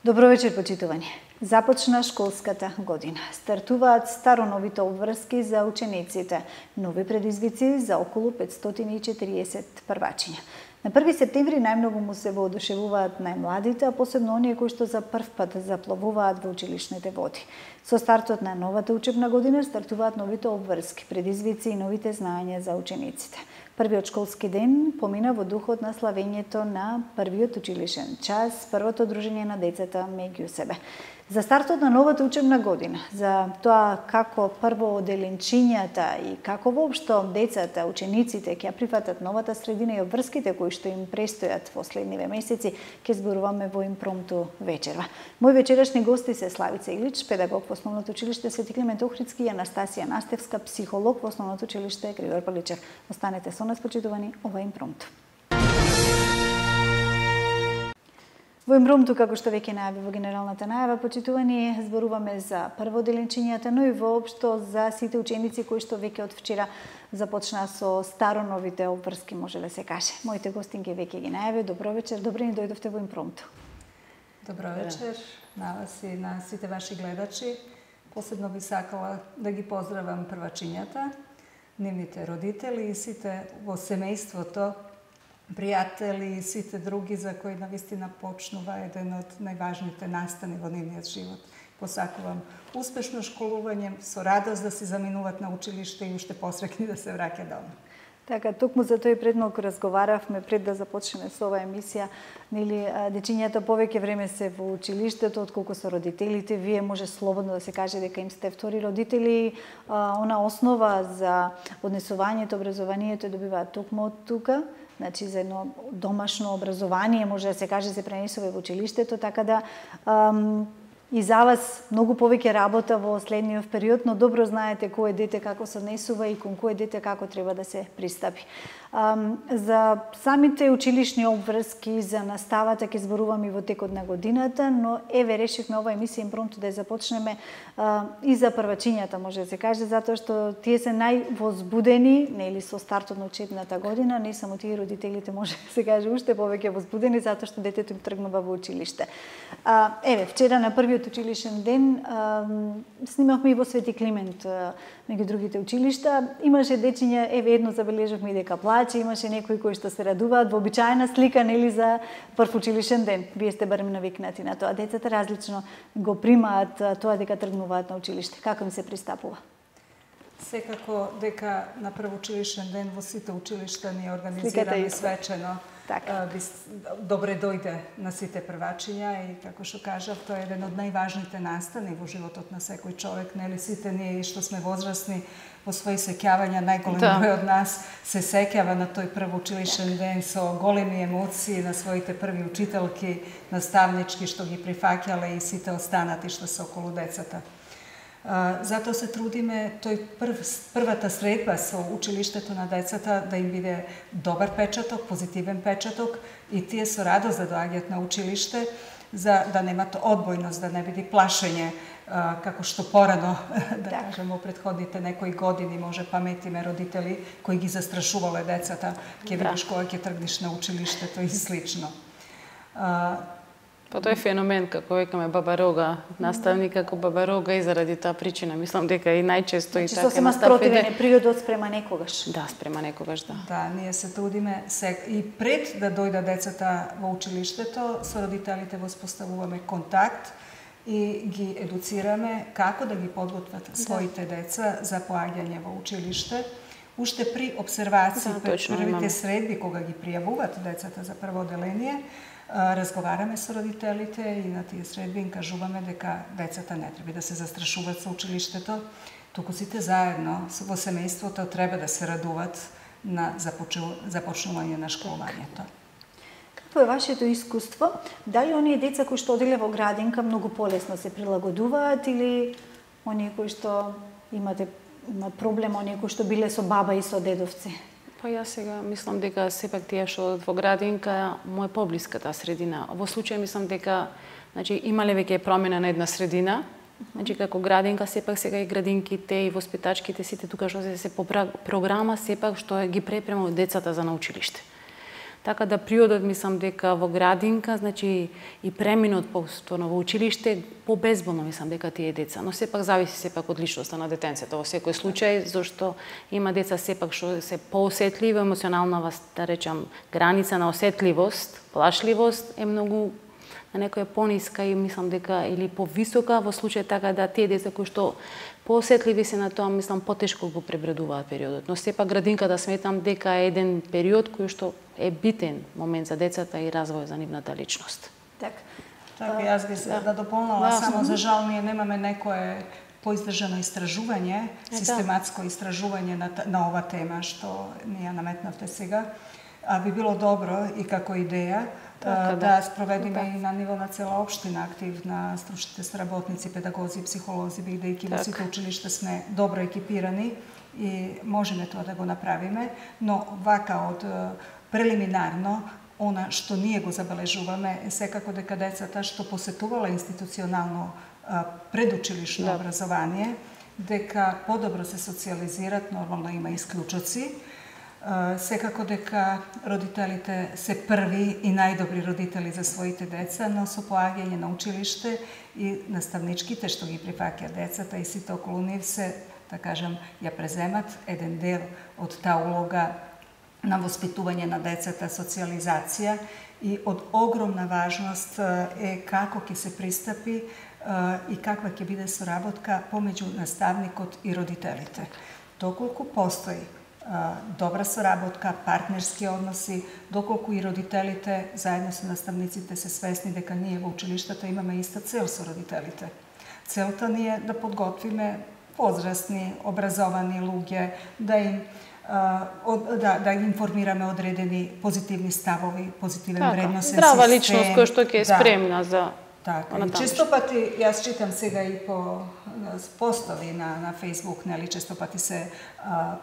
Добро вечер, почитувани. Започна школската година. Стартуваат староновите обврски за учениците, нови предизвици за околу 540 првачиња. На 1 септември најмногу му се воодушевуваат најмладите, а посебно оние кои што за прв пат заплавуваат во училишните води. Со стартот на новата учебна година стартуваат новите обврски, предизвици и новите знаења за учениците. Првиот школски ден помина во духот на славењето на првиот училишен час, првото дружење на децата меѓу себе. За стартот на новата учебна година, за тоа како прво оделенчињата и како воопшто децата, учениците ќе прифатат новата средина и обврските кои што им престојат во следниве месеци, ќе зборуваме во импромту вечерва. Мои вечерашни гости се Славица Илич, педагог во Основното училиште Свети Климент Охридски, и Анастасија Настевска, психолог во Основното училиште Григор Паличев. Останете со нас, почитувани, ова е импромту. Во импромту, како што веќе најави во генералната најава, почитувани, зборуваме за прво оделенчињата, но и воопшто за сите ученици кои што веќе од вчера започна со староновите обврски, може да се каже. Моите гостинки веќе ги најави. Добро вечер, добре ни дојдовте во импромту. Добро вечер на вас и на сите ваши гледачи. Посебно би сакала да ги поздравам првачињата, нивните родители и сите во семејството, пријатели и сите други за кои навистина почнува еден од најважните настани во нивниот живот. Посакувам успешно школување, со радост да си заминуваат на училиште и уште посрекни да се враќа дома. Така, токму за тој пред малку разговаравме пред да започнеме со оваа емисија, нели дечињата повеќе време се во училиштето отколку со родителите. Вие може слободно да се каже дека им сте втори родители, она основа за однесувањето, образованието добиваат токму од тука. Значи, за едно домашно образование, може да се каже, се пренесува во училиштето, така да и за вас многу повеќе работа во следниот период, но добро знаете кое дете како се однесува и кон кое дете како треба да се пристапи. За самите училишни обврски, за наставата ќе зборуваме и во текот на годината, но еве решивме ова емисија импромту да ја започнеме и за првачињата, може да се каже, затоа што тие се највозбудени, нели, со стартот на учебната година, не само тие родителите, може да се каже, уште повеќе возбудени затоа што детето им тргнува во училиште. Еве, вчера на првиот училишен ден снимавме и во Свети Климент, меѓу другите училишта. Имаше дечиња, еве едно забележавме и дека плаче, имаше некои кои што се радуваат, вообичаена слика, нели, за прв училишен ден. Вие сте барем навикнати на тоа. Децата различно го примаат тоа дека тргнуваат на училиште. Како им се пристапува? Секако дека на прв училишен ден во сите училишта ни организираме свечено. Добре дојде на сите првачиња и, како што кажав, тоа е еден од најважните настани во животот на секој човек. Нели, сите ние што сме возрастни во своји сеќавања, најголем број од нас се сеќава на тој прв училишен ден со големи емоции на своите први учителки, наставнички што ги прифаќале и сите останати што се околу децата. Затоа се трудиме тој првата средба со училиштето на децата да им биде добар печаток, позитивен печаток и тие со радост да доаѓаат на училиште, за да немат одбојност, да не биде плашење, како што порано, да кажем, во претходните некои години може паметиме родители кои ги застрашувале децата, ќе видиш кога ќе тргнеш на училиштето и слично. Па тој феномен, како викаме Баба Рога, наставник како Баба Рога, и заради таа причина, мислам дека и најчесто и така сосема спротивен периодот спрема некогаш. Да, спрема некогаш, да. Да, ние се трудиме и пред да дојдат децата во училиштето, со родителите воспоставуваме контакт и ги едуцираме како да ги подготват своите деца за поаѓање во училиште. Уште при обсервации пред првите средби, кога ги пријавуваат децата за прво оделение, разговараме со родителите и на тие средби им кажуваме дека децата не треба да се застрашуваат со училиштето, туку сите заедно во семејството треба да се радуваат на започнување на школувањето. Какво е вашето искуство? Дали оние деца кои што оделе во градинка многу полесно се прилагодуваат или оние кои што имат проблем, оние кои што биле со баба и со дедовци? Па јас сега мислам дека сепак тие што одат во градинка му е поблиска таа средина. Во случај мислам дека, значи, имале веќе промена на една средина Значи, како градинка, сепак сега и градинките, и воспитачките, сите тука што се по програма, сепак што ги препрема децата за на училиште. Така да приодот, мислам дека во градинка, значи и преминот повторно во училиште, побезболно мислам дека тие деца, но сепак зависи сепак од личноста на детенцето во секој случај, зашто има деца сепак што се поосетливи, емоционална, да речам, граница на осетливост, плашливост е многу на некоја пониска и мислам дека или повисока во случај така да тие деца кои што поосетливи се на тоа, мислам, потешко го пребредуваат периодот. Но сепак градинката сметам дека е еден период кој што е битен момент за децата и развој за нивната личност. Така, јас би се да дополнала само, за жал ние немаме некое поиздржано истражување, систематско истражување на ова тема што ни ја наметнавте сега, а би било добро и како идеја да спроведиме и на ниво на цела општина активна стручните соработници, педагози, психолози, бидејќи во сите училишта сме добро екипирани и можеме тоа да го направиме, но вака од прелиминарно, она што ние го забележуваме е секако дека децата што посетувала институционално предучилишно образование, дека подобро се социализират, нормално има исклучоци, секако дека родителите се први и најдобри родители за своите деца, но со поаѓање на училиште и наставничките што ги прифаќаат децата и сите околу нив се, да кажам, ја преземат еден дел од таа улога на воспитување на децата, социализација и од огромна важност е како ќе се пристапи и каква ќе биде соработка помеѓу наставникот и родителите. Доколку постои добра соработка, партнерски односи, доколку и родителите заедно со наставниците се свесни дека ние во училиштата имаме иста цел со родителите. Целта ни е да подготвиме возрастни, образовани луѓе, да ги информираме одредени позитивни ставови, позитивен вредносен систем. Здрава личност која што ќе е спремна за... Така, и често пати, јас читам сега и по постови на Facebook, нели, често пати се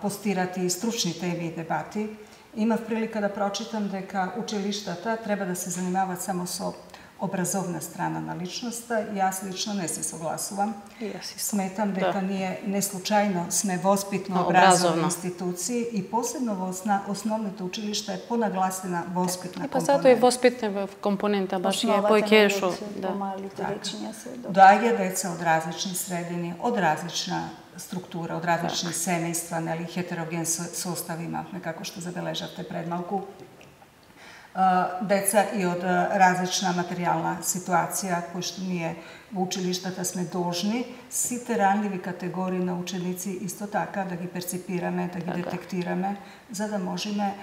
постират и стручни теми и дебати. Имав прилика да прочитам дека училиштата треба да се занимаваат само со образовна страна на личноста и јас лично не се согласувам. Сметам дека ние не случајно сме воспитно-образовни институции и посебно во основните училишта е понагласена воспитна компонента. И затоа и воспитна компонента баш е појкешо. Доаѓа деца од различни средини, од различна структура, од различни семејства, нели, хетероген состав имавме, како што забележавте пред малку. Деца и од различна материјална ситуација, кои што ние во училиштата сме должни, сите ранливи категории на ученици исто така да ги перципираме, да ги детектираме, за да можеме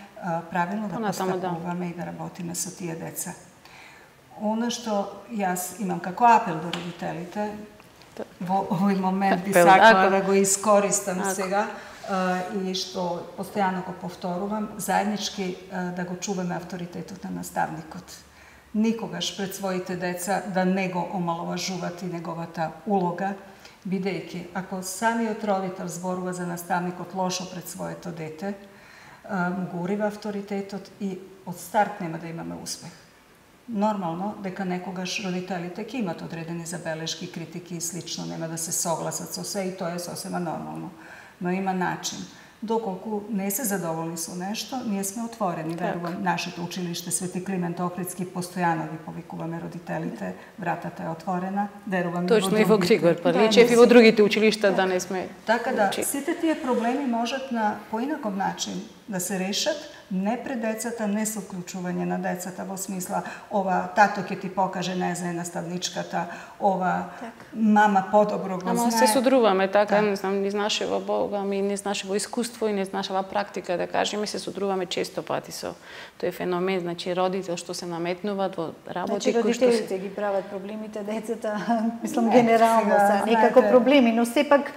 правилно да постапуваме и да работиме со тие деца. Она што јас имам како апел до родителите, во овој момент би сакала да го искористам сега, и што постојано го повторувам, заеднички да го чуваме авторитетот на наставникот. Никогаш пред своите деца да не го омаловажуват и неговата улога, бидејќи ако самиот родител зборува за наставникот лошо пред своето дете, му го урива авторитетот и од старт нема да имаме успех. Нормално дека некогаш родителите ќе имат одредени забелешки, критики и слично, нема да се согласат со се и тоа е сосема нормално. Но има начин. Доколку не се задоволни со нешто, ние сме отворени. Верувам, нашето училиште Свети Климент Охридски постојано ги повикуваме родителите, вратата е отворена. Верувам точно и во Григор Павличев и во другите училишта да не сме. Така да, сите тие проблеми можат на поинаков начин да се решат, не пред децата, не со вклучување на децата во смисла ова тато ќе ти покаже, не знае наставничката, ова мама подобро го знае. Ама се содруваме така, не знам, низ нашево Бога, ми низ нашево искуство и низ нашава практика, да кажеме, се содруваме често пати со тој феномен, значи родител што се наметнуваат во работи кои што родителите ги прават проблемите, децата, мислам генерално се некако проблеми, но сепак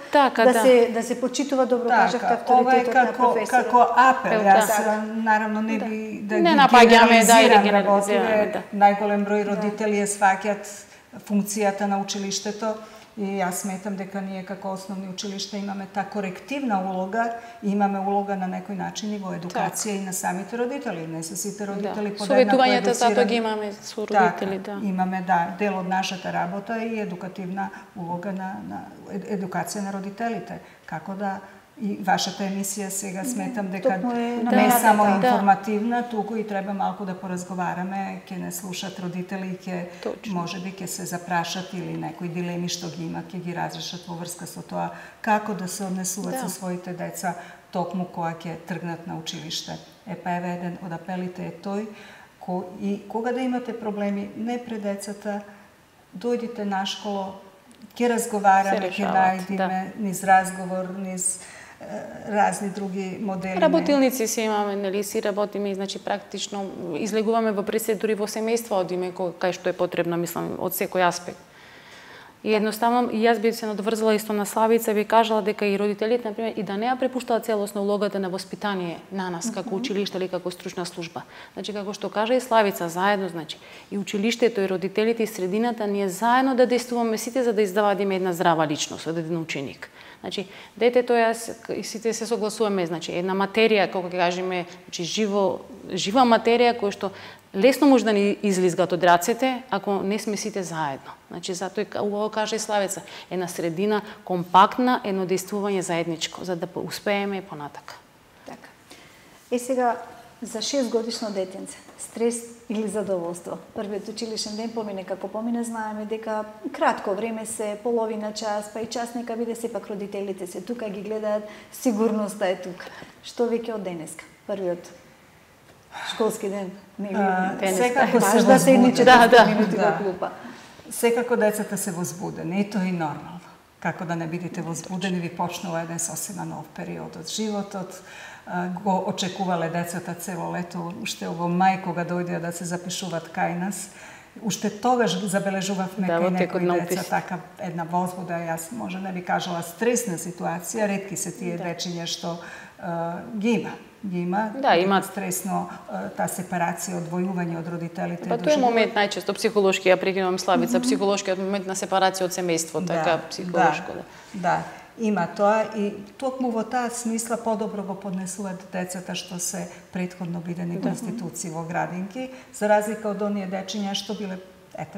да се почитува, добро кажавте, авторитетот на професорот. Како апел, јас наравно не би да ги генерализирам работиве, најголем број родители ја сваќат функцијата на училиштето и јас сметам дека ние како основни училишта имаме та корективна улога и имаме улога на некој начин и во едукација и на самите родители. Не се сите родители подеднакво едуцирани. Советувањата затоа ги имаме со родители, имаме дел од нашата работа и едукативна улога на едукација на родителите. Како да и вашата емисија сега сметам дека не само информативна, туку и треба малку да поразговараме, ќе не слушат родители, можеби ќе се запрашат или некои дилеми што ги имат, ќе ги разрешат во врска со тоа како да се однесуваат со своите деца токму кога ќе тргнат на училиште. Еве еден од апелите е тој, и кога да имате проблеми, не пред децата, дојдите на школа, ќе разговараме, ќе најдеме низ разговор, низ разни други модели. Работилници си имаме, нели, си работиме, значи практично излегуваме во процедури во семејство, одиме кај што е потребно, мислам, од секој аспект. И едноставно, и јас би се надврзала исто на Славица, би кажала дека и родителите, например, и да не ја препуштаат целосно улогата на воспитание на нас, како училиште или како стручна служба. Значи, како што кажа и Славица, заедно, значи, и училиштето, и родителите, и средината, ние заедно да действуваме сите за да издавадиме една здрава личност, еден ученик. Значи, детето, јас и сите се согласуваме, значи, една материја, како ќе кажеме, значи, жива материја која што лесно може да ни излизгат од рацете ако не сме сите заедно. Значи, затоа и убаво каже и Славица, една средина компактна, едно действување заедничко, за да успееме понатака. Така. Сега, за 6-годишно детенце, стрес или задоволство? Првиот училишен ден помине како помине, знаеме дека кратко време се, половина час, па и час нека биде, сепак родителите се тука, ги гледаат, сигурноста е тука. Што веќе од денеска? Првиот школски ден, секако се возбудени. Секако децата се возбудени, и тоа е нормално. Како да не бидете возбудени, ви почнува еден сосема нов период од животот. Го очекувале децата цело лето, уште во мај кога дојдеа да се запишуваат кај нас. Уште тогаш забележувавме кај некои деца така една возбуда, јас може не би кажала стресна ситуација, ретки се тие дечиња што ги има. Да, имаат стресно таа сепарација, одвојување од родителите. Па тоа е момент најчесто психолошки, ја прекинувам Славица, психолошкиот момент на сепарација од семејство, така психолошко. Да, има тоа и токму во таа смисла подобро го поднесуваат децата што се претходно бидени во институции во градинки, за разлика од оние дечиња што биле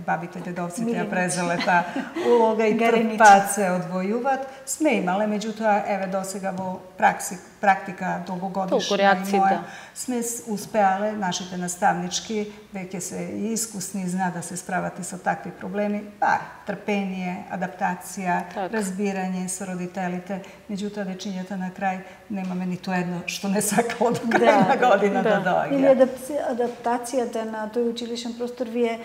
бабите, дедовците ја презеле таа улога и трпат се одвојуваат. Сме имале, меѓутоа, еве досега во практика долгогодишна сме успеале, нашите наставнички веќе се и искусни, знаат да се справат и со такви проблеми, трпение, адаптација, разбирање со родителите, меѓутоа дечињата на крај немаме ниту едно што не сакало до крај на година да доаѓа. Или адаптацијата на тој училишен простор ви е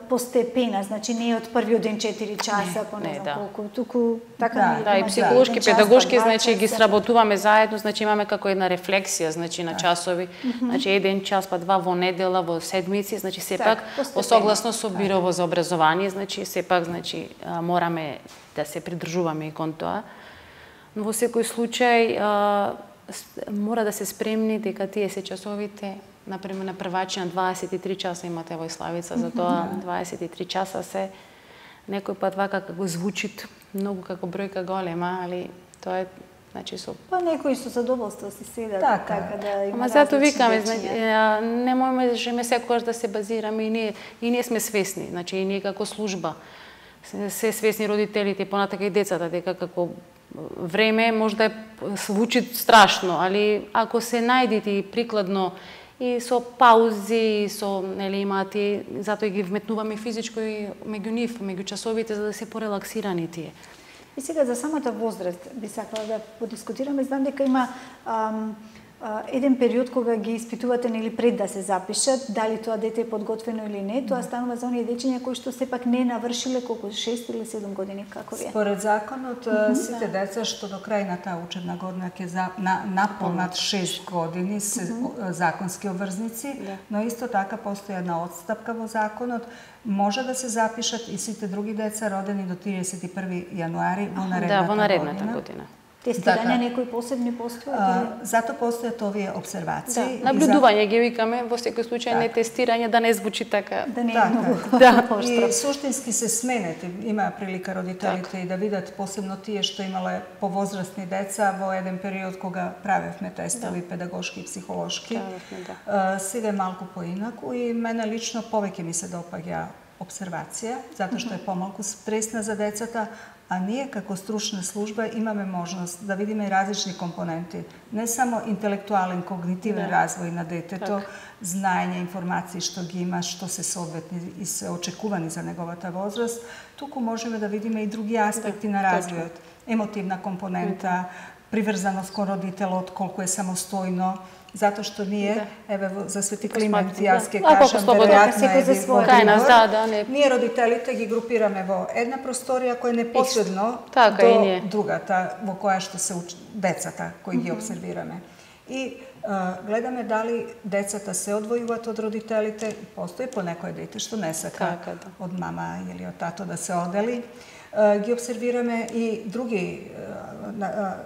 постепена, значи не од првиот ден 4 часа, по не знам колку, туку така да, и психолошки, педагошки, значи ги сработуваме заедно, значи имаме како една рефлексија, значи на часови, значи еден час па два во недела, во седмици, значи сепак согласно со Бирово за образование, значи сепак значи мораме да се придржуваме и кон тоа. Но во секој случај мора да се спремни дека тие се часовите, например на првачина 23 часа имате во Славица, затоа 23 часа се некој пат вака како звучи многу како бројка голема, али тоа е значи со некои со задоволство си седат така да има. Ама затоа викаме, значи не можеме секогаш да се базираме и ние сме свесни, значи и ние како служба се свесни родителите, понатака и децата, дека како време може да звучи страшно, али ако се најдете прикладно и со паузи, со нели имаат и затоа ги вметнуваме физичко и меѓу нив, меѓу часовите за да се порелаксирани тие. И сега за самата возраст би сакала да подискутираме. Знам дека има еден период кога ги испитувате нели пред да се запишат, дали тоа дете е подготвено или не, тоа станува за оние дечиња кои што сепак не навршиле колку 6 или 7 години, како ви е? Според законот сите деца што до крај на таа учебна година ќе наполнат 6 години се законски обврзници, но исто така постои една отстапка во законот, може да се запишат и сите други деца родени до 31 јануари во наредната година. Тестирање некои посебни постојат? Зато постојат овие обсервации. Да, наблюдување ги викаме, во секој случај не тестирање, да не звучи така. Да не е многу. И суштински се сменете, има прилика родителите и да видат посебно тие што имале повозрастни деца во еден период кога правевме тестови педагошки и психолошки. Сега е малку поинаку и мене лично повеќе ми се допаѓа обсервација, затоа што е помалку стресна за децата, а ние како стручна служба имаме можност да видиме и различни компоненти, не само интелектуален, когнитивен развој на детето, знаење, информации што ги има, што се соодветни и се очекувани за неговата возраст, туку можеме да видиме и други аспекти на развојот. Емотивна компонента, приврзаност кон родителот, колку е самостојно, затоа што ние, еве за Свети Климент, јас ќе кажам, веројатно е ние родителите ги групираме во една просторија која е непосредно до другата, во која што се децата кои ги обсервираме. И гледаме дали децата се одвојуваат од родителите, постои по некој дете што не сака од мама или од тато да се одели. Ги обсервираме и други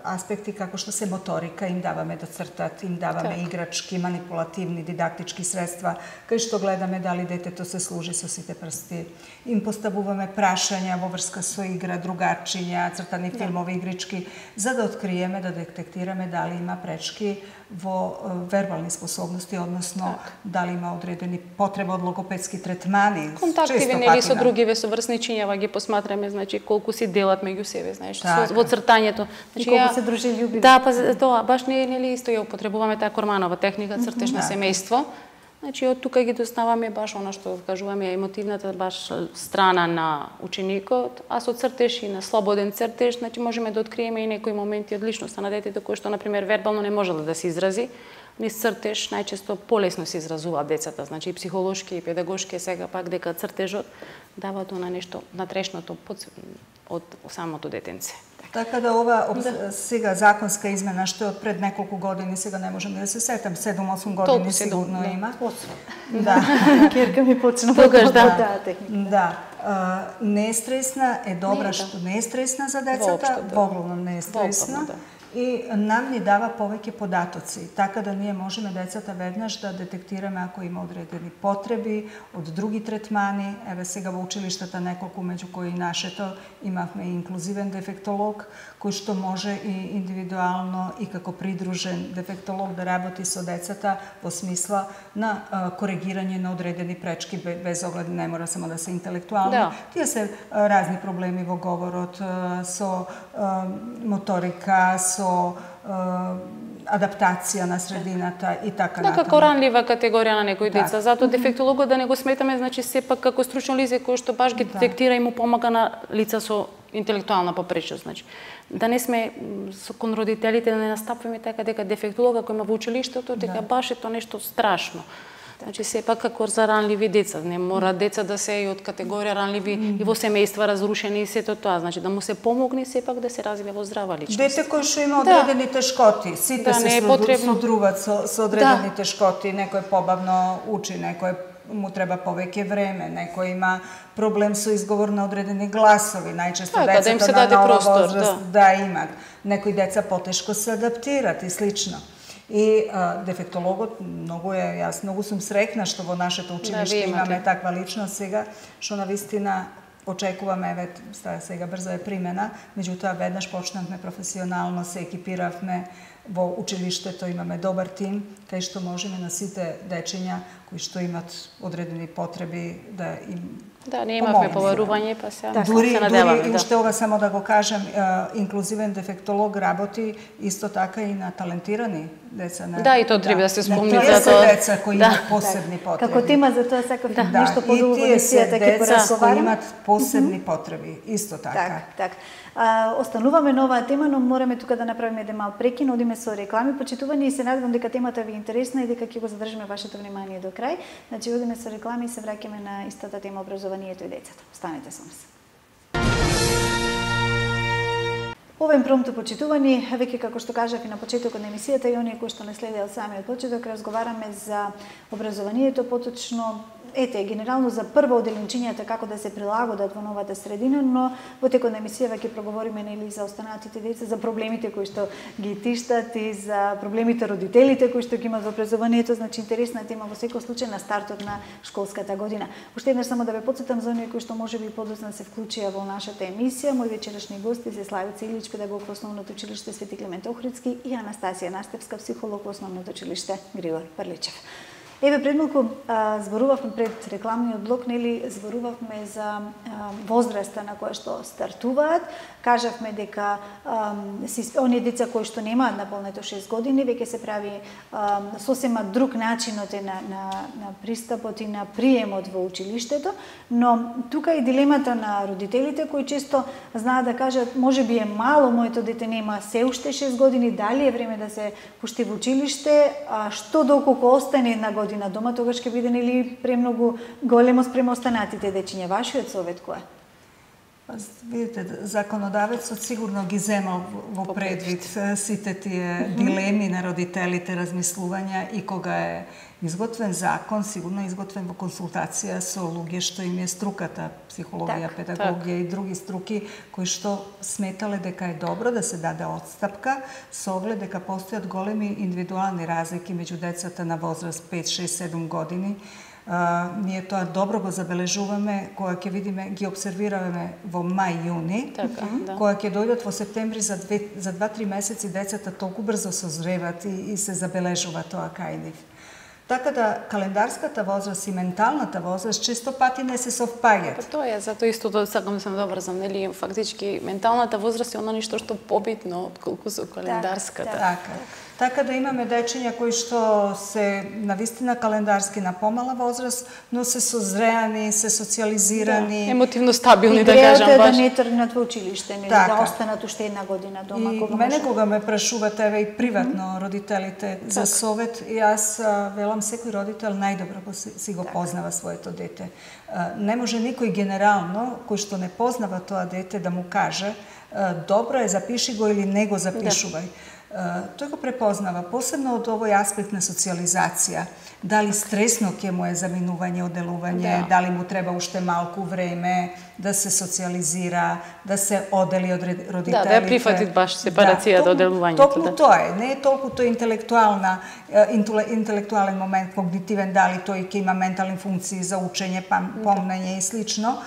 аспекти како што се моторика, им даваме да цртат, им даваме играчки, манипулативни, дидактички средства, кај што гледаме дали детето се служи со сите прсти. Им поставуваме прашања во врска со игра, другачиња, цртани филмови, игрички, за да откриеме, да детектираме дали има пречки во вербални способности, односно дали има одредени потреба од логопедски третмани. Контактиви нели со другиве соврсничињава ги посматраме, значи колку си делат меѓу себе, знаеш, во цртањето. Значи колку се дружелюбиви. Да, па тоа баш не е нели исто, ја употребуваме таа Корманова техника цртеж на семејство. Значи од тука ги доставаме баш она што кажуваме емотивната баш страна на ученикот, а со цртеж и на слободен цртеж, значи можеме да откриеме и некои моменти од личноста на детето кои што на пример вербално не можело да се изрази. Низ цртеж најчесто полесно се изразуваат децата, значи и психолошки и педагошки, сега пак дека цртежот дава тоа на нешто натрешното од самото детенце. Така да ова сега законска измена што е од пред неколку години, сега не можам да се сетам, 7-8 години сигурно има. Да. Керка ми почна тогаш да. Не е стресна, е добра што не е стресна за децата, воглавно не е стресна. И нам ни дава повеќе податоци, така да ние можеме децата веднаш да детектираме ако има одредени потреби од други третмани. Еве сега во училиштата неколку, меѓу кои и нашето, имавме и инклузивен дефектолог, кој што може и индивидуално и како придружен дефектолог да работи со децата во смисла на коригирање на одредени пречки, без оглед не мора само да се интелектуални. Тие се разни проблеми во говорот, со моторика, со адаптација на средината и така натаму. Како ранлива категорија на некои деца. Затоа дефектологот да не го сметаме, значи сепак како стручно лице кој што баш ги детектира и му помага на лица со интелектуална попречност, значи. Да не сме кон родителите да не настапуваме така дека дефектолог ако има во училиштето дека баш е тоа нешто страшно. Значи сепак како за ранливи деца, не мора деца да се и од категорија ранливи и во семејства разрушени и сето тоа, значи да му се помогне сепак да се развие во здрава личност. Дете кој што има одредени тешкоти, сите се содруват со одредени тешкоти, некој побавно учи, некој му треба повеќе време, некој има проблем со изговор на одредени гласови, најчесто децата на нова возраст имат. Некои деца потешко се адаптират и слично. И дефектологот јас многу сум среќна што во нашето училиште имаме таква личност сега, што навистина очекуваме, еве сега брзо е примена, меѓутоа веднаш почнавме професионално, се екипиравме во училиштето, имаме добар тим, кај што можеме на сите дечиња кои што имат одредени потреби да им не имавме поварување, па се надеваме. Дури уште ова само да го кажем, инклузивен дефектолог работи исто така и на талентирани деца. Да, и тоа треба да се спомни за тоа. Тие деца кои имат посебни потреби. Како тема за тоа сакав нешто подолго во емисијата ќе поразговараме. Кои имат посебни потреби, исто така. Так. Остануваме на оваа тема, но мораме тука да направиме еден мал прекин, одиме со реклами, почитувани и се надевам дека темата ви е интересна и дека ќе го задржиме вашето внимание до крај. Значи одиме со реклами и се враќаме на истата тема образованието и децата. Останете со нас. Овој промто почитувани, веќе како што кажав и на почетокот на емисијата и оние кои што не следеа од самиот почеток, разговараме за образованието, поточно генерално за прво оделенчињата како да се прилагодат во новата средина, но во текот на емисијава ќе проговориме нели за останатите деца, за проблемите кои што ги тиштат и за проблемите родителите кои што ги имаат во образованието, значи интересна тема во секој случај на стартот на школската година. Уште еднаш само да ве потсетам за оние кои што можеби подоцна се вклучија во нашата емисија, мои вечерашни гости се Славица Илич, педагог во Основното училиште Свети Климент Охридски и Анастасија Настевска, психолог во Основното училиште Григор Прличев. Еве пред малку зборувавме пред рекламниот блок, нели зборувавме за возраста на која што стартуваат. Кажавме дека оние деца кои што немаат наполнето 6 години, веќе се прави сосема друг начинот на пристапот и на приемот во училиштето, но тука и дилемата на родителите кои често знаат да кажат можеби е мало, моето дете нема се уште 6 години, дали е време да се пушти во училиште, што доколку остане една година дома, тогаш ќе биде нели премногу големо спрема останатите дечиња. Вашиот совет кој е? Видите, законодавецот сигурно ги земал во предвид сите тие дилеми на родителите, размислувања и кога е изготвен закон, сигурно е изготвен во консултација со луѓе што им е струката, психологија, педагогија и други струки, кои што сметале дека е добро да се даде отстапка со оглед дека постојат големи индивидуални разлики меѓу децата на возраст 5, 6, 7 години. Ние тоа добро го забележуваме кога ќе видиме, ги обсервираме во мај-јуни, кога ќе дојдат во септември за 2-3 месеци децата толку брзо созреват и се забележува тоа кај нив. Така да календарската возраст и менталната возраст често пати не се совпаѓаат. Тоа е, затоа исто сакам да се наврзам, нели фактички менталната возраст е она нешто што побитно отколку со календарската. Така да имаме дечиња кои што се навистина календарски на помала возраст, но се созреани, се социализирани, емотивно стабилни, да кажам баш. Да не тргнат во училиште, нели да останат уште една година дома. И мене кога ме прашуват еве и приватно родителите за совет, и јас велам секој родител најдобро си го познава своето дете. Не може никој генерално кој што не познава тоа дете да му каже добро е, запиши го или не го запишувај. Тој го препознава, посебно од овој аспект на социализација. Дали стресно ќе му е заминување, оделување, дали му треба уште малку време да се социализира, да се одели од родителите. Да ја прифати баш сепарацијата од оделувањето. Токму тоа е, не е толку тој интелектуален момент, когнитивен, дали тој ќе има ментални функции за учење, помнење и слично.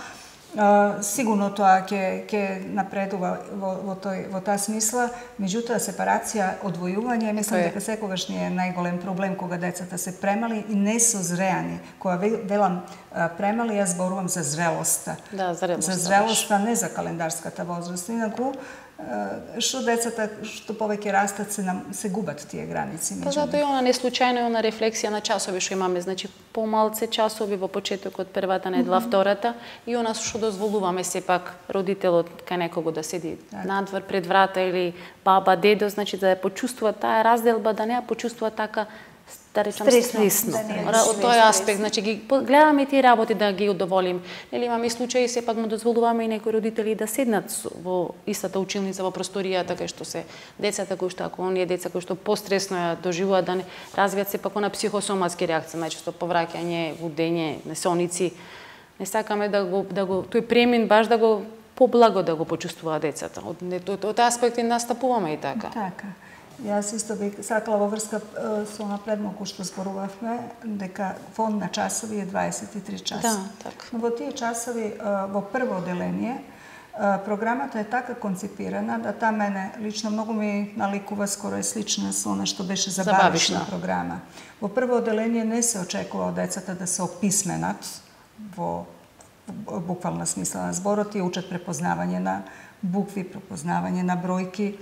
Сигурно тоа ќе напредува во таа смисла, меѓутоа сепарација, одвојување, мислам дека секогаш ни е најголем проблем кога децата се премали и не созреани. Кога велам премали, јас зборувам за зрелоста. Да, за зрелоста, не за календарската возраст. Инаку, што децата што повеќе растат се губат тие граници меѓу. Па затоа и она не случајно е она рефлексија на часови што имаме, значи помалце часови во почетокот првата недела, втората, и она што дозволуваме сепак родителот кај некого да седи надвор пред врата или баба, дедо, значи да ја почувствува таа разделба, да не ја почувствува така да речам стресно. Од тој аспект, значи ги гледаме тие работи да ги удоволим. Нели имаме и случаи сепак му дозволуваме и некои родители да седнат во истата училница во просторијата кај што се децата кои што ако оние деца кои што постресно ја доживуваат да не развијат сепак на психосоматски реакции, најчесто повраќање, лудење, несоници. Не сакаме да го тој премин баш да го поблаго да го почувствуваат децата. Од аспекти настапуваме и така. Така. Јас исто бих сакала во врска со напредмалку што зборувавме, дека фонд на часови е 23 часа. Да, така. Но во тие часови, во прво оделение, програмата е така конципирана да таа мене лично многу ми наликува, скоро е слична со она што беше забавишна програма. Во прво оделение не се очекува од децата да се описменат во буквална смисла на зборот и учат препознавање на букви, препознавање на бројки.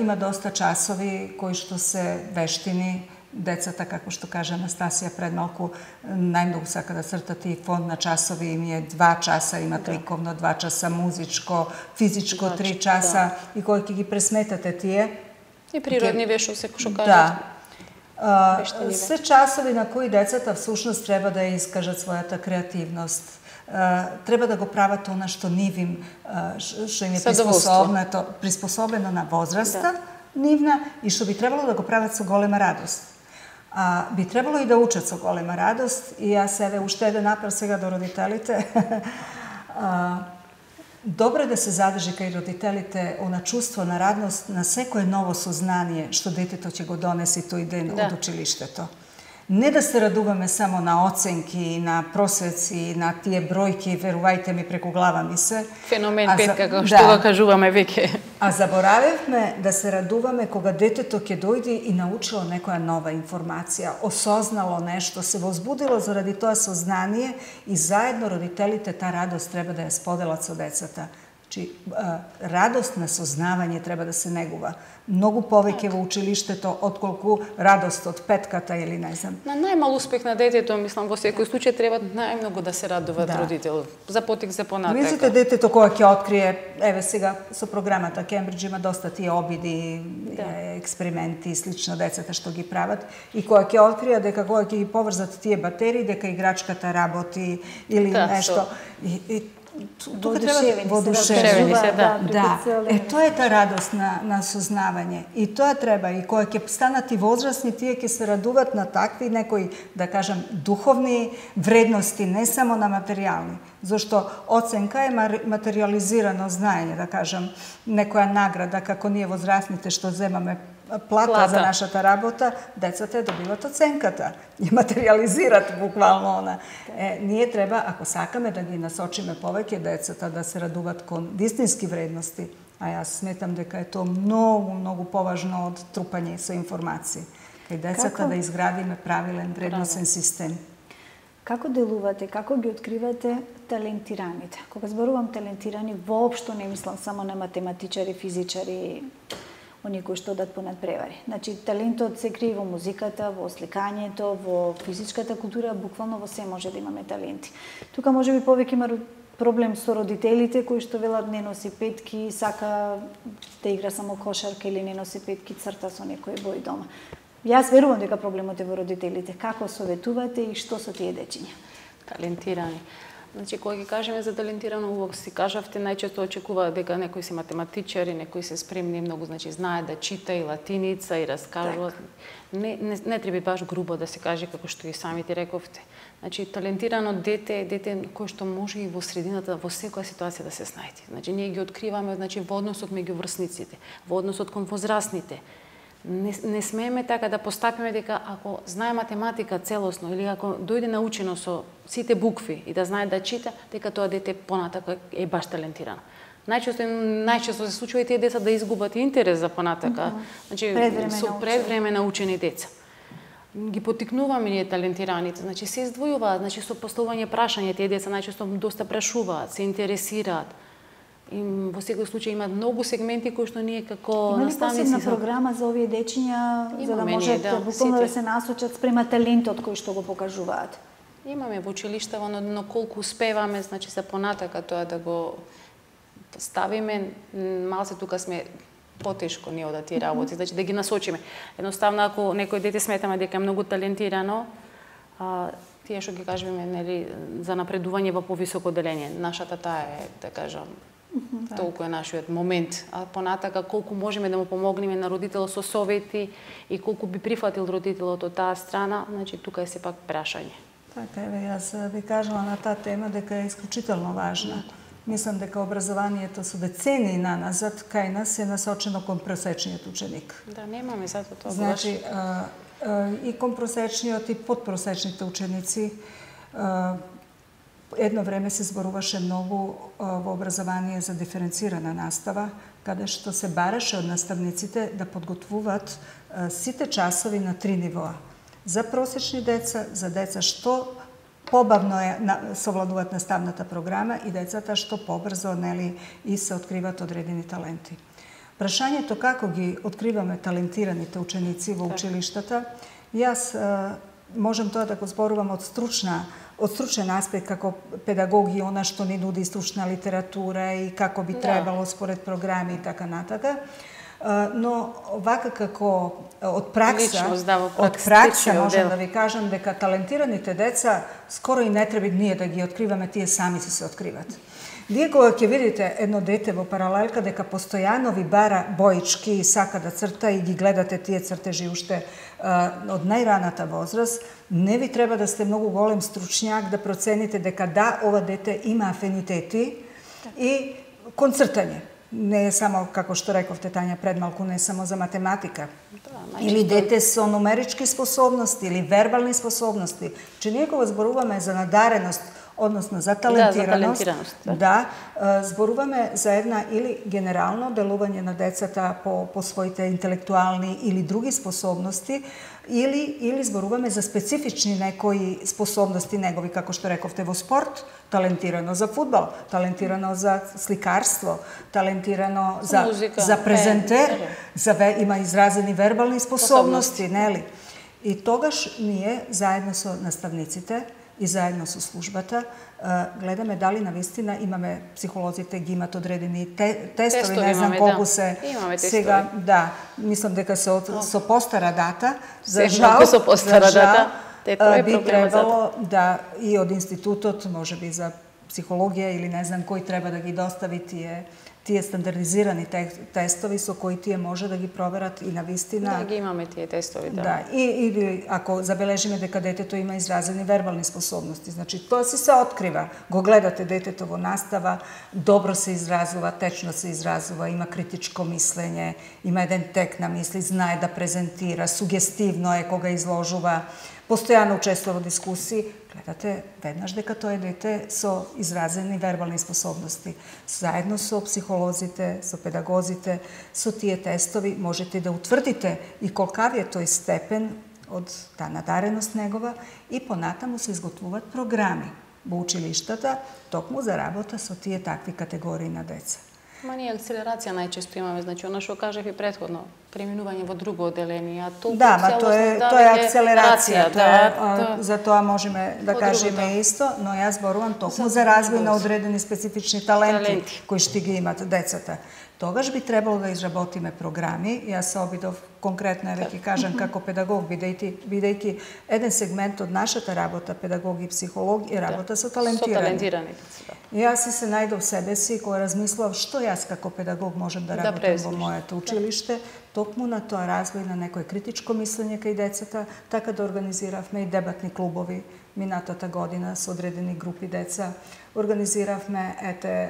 Има доста часови кои што се вештини. Децата, како што кажа Анастасија пред малку, најмногу сака да цртат и фонд на часови, им е 2 часа, имат ликовно, 2 часа музичко, физичко 3 часа, и кои ќе ги пресметате тие. И природни вешо, се што кажат. Се часови на кои децата всушност треба да ја искажат својата креативност, треба да го прават она што нивим, што им е приспособено на возраста нивна и што би требало да го прават со голема радост. Би требало и да учат со голема радост и јас еве уште еден апел сега до родителите. Добро е да се задржи кај родителите она чувство на радост на секое ново сознание што детето ќе го донесе тој ден од училиштето. Не да се радуваме само на оценки, на просвеци, на тие бројки, верувајте ми, преку глава ми се. Феномен 5, како што го кажуваме веќе. А заборавивме да се радуваме кога детето ќе дојде и научило некоја нова информација, осознало нешто, се возбудило заради тоа сознание и заедно родителите таа радост треба да ја споделат со децата. Значи, радост на сознавање треба да се негува. Многу повеќе во училиштето отколку радост од петката или не знам. На најмал успех на детето, мислам, во секој случај треба најмногу да се радуваат родител. За потик за понатака. Мислите детето кога ќе открие, еве сега со програмата Кембридж има доста тие обиди, експерименти и слично децата што ги прават и кога ќе открие дека кога ќе ги поврзат тие батерии, дека играчката работи или нешто. Тука треба воодушевени се, тоа е таа радост на сознавање. И тоа треба, и кога ќе станат и возрастни, тие ќе се радуват на такви некои, да кажам, духовни вредности, не само на материјални. Зашто оценка е материализирано знаење, да кажам, некоја награда, како ние возрастните што земаме плата за нашата работа, децата ја добиват оценката и материализират буквално она. Ние треба, ако сакаме да ги насочиме повеќе децата да се радуват кон вистински вредности, а јас сметам дека е тоа многу, многу поважно од трупање со информации. Кај децата да изградиме правилен вредносен систем. Како делувате, како ги откривате талентираните? Кога зборувам талентирани, воопшто не мислам само на математичари, физичари, оние кои што одат по надпревари. Значи, талентот се крие во музиката, во сликањето, во физичката култура, буквално во се може да имаме таленти. Тука може би повеќе има проблем со родителите кои што велат не носи петки, сака да игра само кошарка или не носи петки, црта со некој бој дома. Јас верувам дека проблемот е во родителите. Како советувате и што со тие дечиња? Талентирани. Значи, кога ги кажеме за талентирано, убаво си кажавте, најчесто очекуваат дека некои се математичари, некои се спремни многу, значи знаат да чита и латиница и раскажуваат. Не треба баш грубо да се каже како што и самите рековте. Значи, талентирано дете е дете кој што може и во средината, во секоја ситуација да се снајде. Значи, ние ги откриваме, значи, во односот меѓу врсниците, во односот кон возрастните. Не смееме така да постапиме дека ако знае математика целосно или ако дојде научено со сите букви и да знае да чита, дека тоа дете понатака е баш талентирано. Најчесто се случува и тие деца да изгубат интерес за понатака, значи со предвреме научени деца. Ги поттикнуваме ние талентираните, значи се издвојуваат, значи со поставување прашања, тие деца најчесто доста прашуваат, се интересираат. И во секој случај има многу сегменти кои што ние како наставници... Има ли посебна програма за овие дечиња, за да можат буквално да се насочат спрема талентот кој што го покажуваат? Имаме во училиштава, но колку успеваме, значи за понатака тоа да го ставиме, малце тука сме потешко ние од тие работи, значи да ги насочиме. Едноставно, ако некој дете сметаме дека е многу талентирано, тие што ги кажеме, нели, за напредување во повисоко делење, нашата таа е, да кажам, толку е нашиот момент, а понатака колку можеме да му помогнеме на родителот со совети и колку би прифатил родителот од таа страна, значи тука е сепак прашање. Така е, јас би кажала на таа тема дека е исклучително важна. Мислам дека образованието со децени наназад кај нас е насочено кон просечниот ученик. Да, немаме затоа тоа. Значи, и кон просечниот и подпросечните ученици едно време се зборуваше многу во образование за диференцирана настава, каде што се бараше од наставниците да подготвуваат сите часови на 3 нивоа. За просечни деца, за деца што побавно совладуваат наставната програма и децата што побрзо, нели, и се откриваат одредени таленти. Прашањето како ги откриваме талентираните ученици во училиштата, јас можам тоа да го зборувам од стручен аспект како педагог и она што ни нуди стручна литература и како би требало според програми и така натака. Но вака како од пракса можам да ви кажам дека талентираните деца скоро и не треба ние да ги откриваме, тие сами се откриват. Вие кога ќе видите едно дете во паралелка дека постојано ви бара боички и сака да црта и ги гледате тие цртежи уште од најраната возраст, не ви треба да сте многу голем стручњак да процените дека да, ова дете има афинитети и кон цртање. Не е само, како што рековте Тања пред малку, не е само за математика. Или дете со нумерички способности, или вербални способности. Че ние кога зборуваме за надареност, односно за талентираност, зборуваме за една или генерално делување на децата по своите интелектуални или други способности, или зборуваме за специфични некои способности негови, како што рековте во спорт, талентирано за фудбал, талентирано за сликарство, талентирано за музика, за презентер, има изразени вербални способности, нели? И тогаш ние заедно со наставниците и заедно со службата гледаме дали навистина имаме, психолозите ги имат одредени тестови, не знам колку се сега, да, мислам дека со постара дата, за жал би требало да и од институтот, можеби за психологија или не знам кој треба да ги достави тие стандардизирани тестови со кои тие може да ги проверат и навистина. Да, ги имаме тие тестови, да. Да, и ако забележиме дека детето има изразени вербални способности, значи тоа се открива. Го гледате детето во настава, добро се изразува, течно се изразува, има критичко мислење, има еден тек на мисли, знае да презентира, сугестивно е кога изложува, постојано учествува во дискусии, гледате веднаш дека тоа е дете со изразени вербални способности. Заедно со психолозите, со педагозите, со тие тестови можете да утврдите и колкав е тој степен од таа надареност негова и понатаму се изготвуваат програми во училиштата токму за работа со тие такви категории на деца. Ма ние акцелерација најчесто имаме, значи она што кажав и претходно, преминување во друго одделение, а толку тоа е акцелерација, за тоа можеме да кажеме исто, но јас зборувам токму за развој на одредени специфични таленти кои што ги имат децата. Тогаш би требало да изработиме програми. Јас се обидов конкретно да ќе кажам како педагог, бидејќи еден сегмент од нашата работа, педагог и психолог, е работа со талентирани. Јас се најдов себе си кога размислав што јас како педагог можам да работам во моето училиште, токму на тоа развој на некое критичко мислење кај децата, така да организиравме и дебатни клубови минатата година со одредени групи деца. Организиравме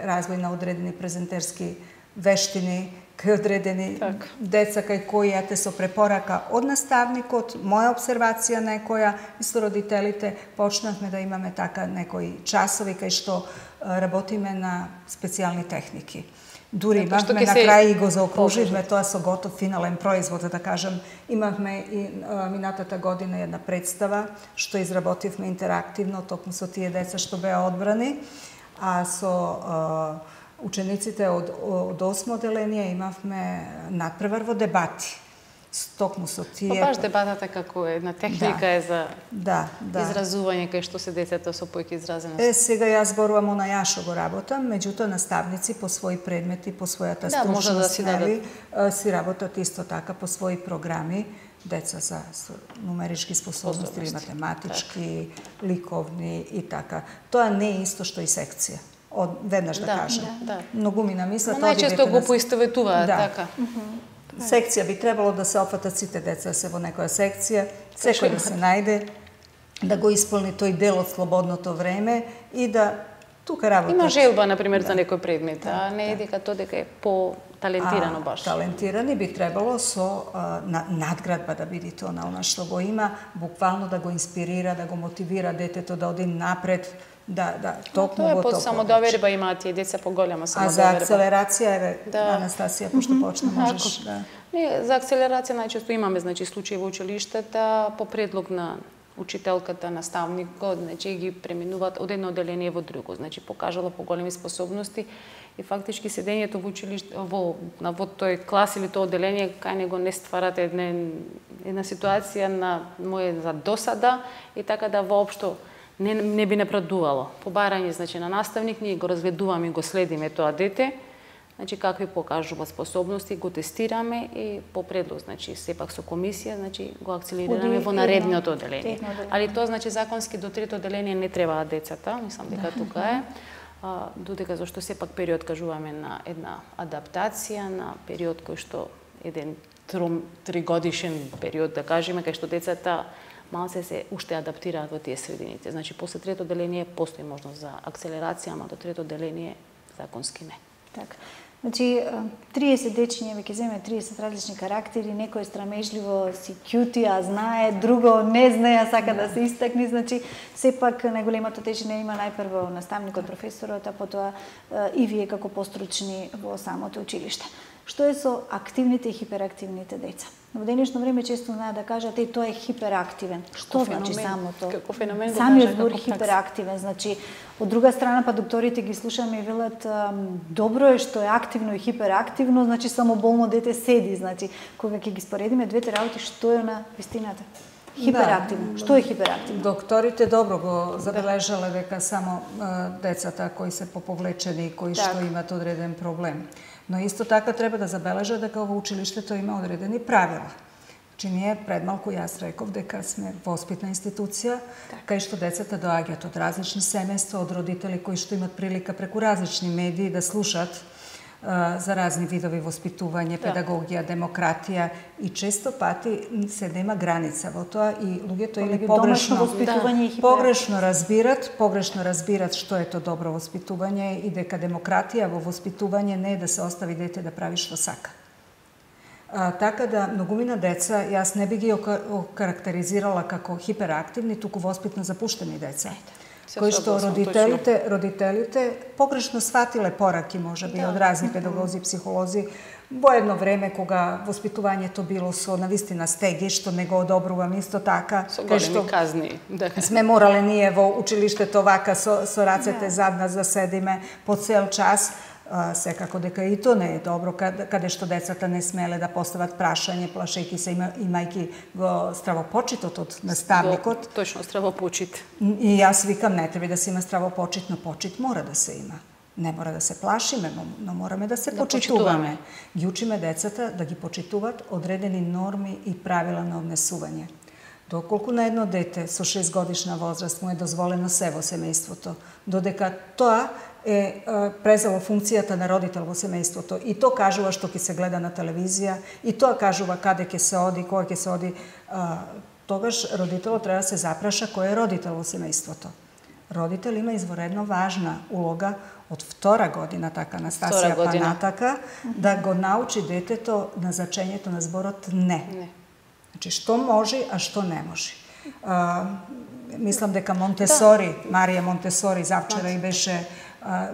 развој на одредени презентерски вештини кај одредени деца кај кои со препорака од наставникот, моја обсервација некоја и со родителите почнавме да имаме така некои часови кај што работиме на специјални техники. Дури имавме на крај и го заокруживме тоа со готов финален производ, да кажам. Имавме и минатата година една представа што изработивме интерактивно токму со тие деца што беа одбрани, а со учениците од 8 одделение имавме надпревар во дебати. Токму со тие... Баш дебатата како една техника е за изразување кај што се децата со појки изразеност. Сега јас зборувам на јашо го работам, меѓутоа наставници по своји предмети, по својата стручност, си работат исто така по своји програми, деца за нумерички способности или математички, ликовни и така. Тоа не е исто што и секција. Веднаш да кажам. Многу ми намислат... Најчесто го поистоветуваат, така. Секција би требало да се опфатат сите деца се во некоја секција, секој да се најде, да го исполни тој дел од слободното време и да тука работат. Има желба, например, за некој предмет, а не е дека тоа дека е по-талентирано баш. Талентирани би требало со надградба да биде тоа на она што го има, буквално да го инспирира, да го мотивира детето да оди напред, токму во тоа. Тоа е под самодоверба, имаат и деца поголема самодоверба. А за акцелерација, Анастасија, пошто почна, можеш да... Не, за акцелерација најчесто имаме, значи, случаи во училиштата по предлог на учителката, наставникот, значи ги преминуваат од едно одделение во друго, значи покажала поголеми способности и фактички седењето во училиште во тој клас или тоа одделение кај него не стварат една ситуација на за досада и така да воопшто не би напредувало. По барање, значи, на наставник, ние го разгледуваме и го следиме тоа дете, значи какви покажуваат способности, го тестираме и по предлог, значи сепак со комисија, значи го акцелерираме во наредното одделение. Али тоа значи законски до трето одделение не требаат децата, мислам дека тука е. Додека зашто сепак период кажуваме на една адаптација, на период кој што еден 3-годишен период, да кажеме, кај што децата малце се уште адаптираат во тие средините. Значи, после трето одделение постои можност за акцелерација, ама до трето одделение законски не. Така. Значи, 30 дечиња ќе земе 30 различни карактери, некој страмежливо си кјути, а знае, друго не знае, а сака да се истакне. Значи, сепак најголемата тежина има најпрво наставникот, професорот, а потоа и вие како постручни во самото училиште. Што е со активните и хиперактивните деца? Во денешно време често знаат да кажат тоа е хиперактивен. Што значи самото? Како феномен самиот збор хиперактивен, значи од друга страна па докторите ги слушаме и велат добро е што е активно и хиперактивно, значи само болно дете седи, значи кога ќе ги споредиме двете работи, што е на вистината? Хиперактивно. Што е хиперактивно? Докторите добро го забележале дека само децата кои се поповлечени и кои што имат одреден проблем. Но исто така треба да забележа дека во училиштето има одредени правила. Значи ние пред малку јас реков дека сме воспитна институција, кај што децата доаѓаат од различни семејства, од родители кои што имат прилика преку различни медии да слушат за разни видови воспитување, педагогија, демократија и често пати се нема граница во тоа и луѓето или погрешно разбират што е тоа добро воспитување и дека демократија во воспитување не е да се остави дете да прави што сака. Така да многумина деца јас не би ги окарактеризирала како хиперактивни, туку воспитно запуштени деца. Кои што родителите погрешно сватиле пораки, можеби, од разни педагози, психолози, во едно време кога воспитувањето било со навистина стеги, што не го одобрувам исто така, со големи казни. Сме морале ние во училиштето вака со рацете зад нас да седиме по цел час. Секако дека и тоа не е добро, каде што децата не смеле да постават прашање, плашејќи се, имајќи го стравопочитот од наставникот. Точно, стравопочит. И јас викам, не треба да се има стравопочит, но почит мора да се има. Не мора да се плашиме, но мораме да се почитуваме. Ги учиме децата да ги почитуваат одредени норми и правила на однесување. Доколку на едно дете со 6 годишна возраст му е дозволено се во семејството, додека тоа е презело функцијата на родител во семејството и тоа кажува што ќе се гледа на телевизија и тоа кажува каде ќе се оди, кога ќе се оди, тогаш родителот треба да се запраша кој е родител во семејството. Родител има изворедно важна улога од 2 година, така Анастасија па натака, да го научи детето на значењето на зборот не. Значи, што може, а што не може. Мислам дека Монтесори, Марија Монтесори, завчера и беше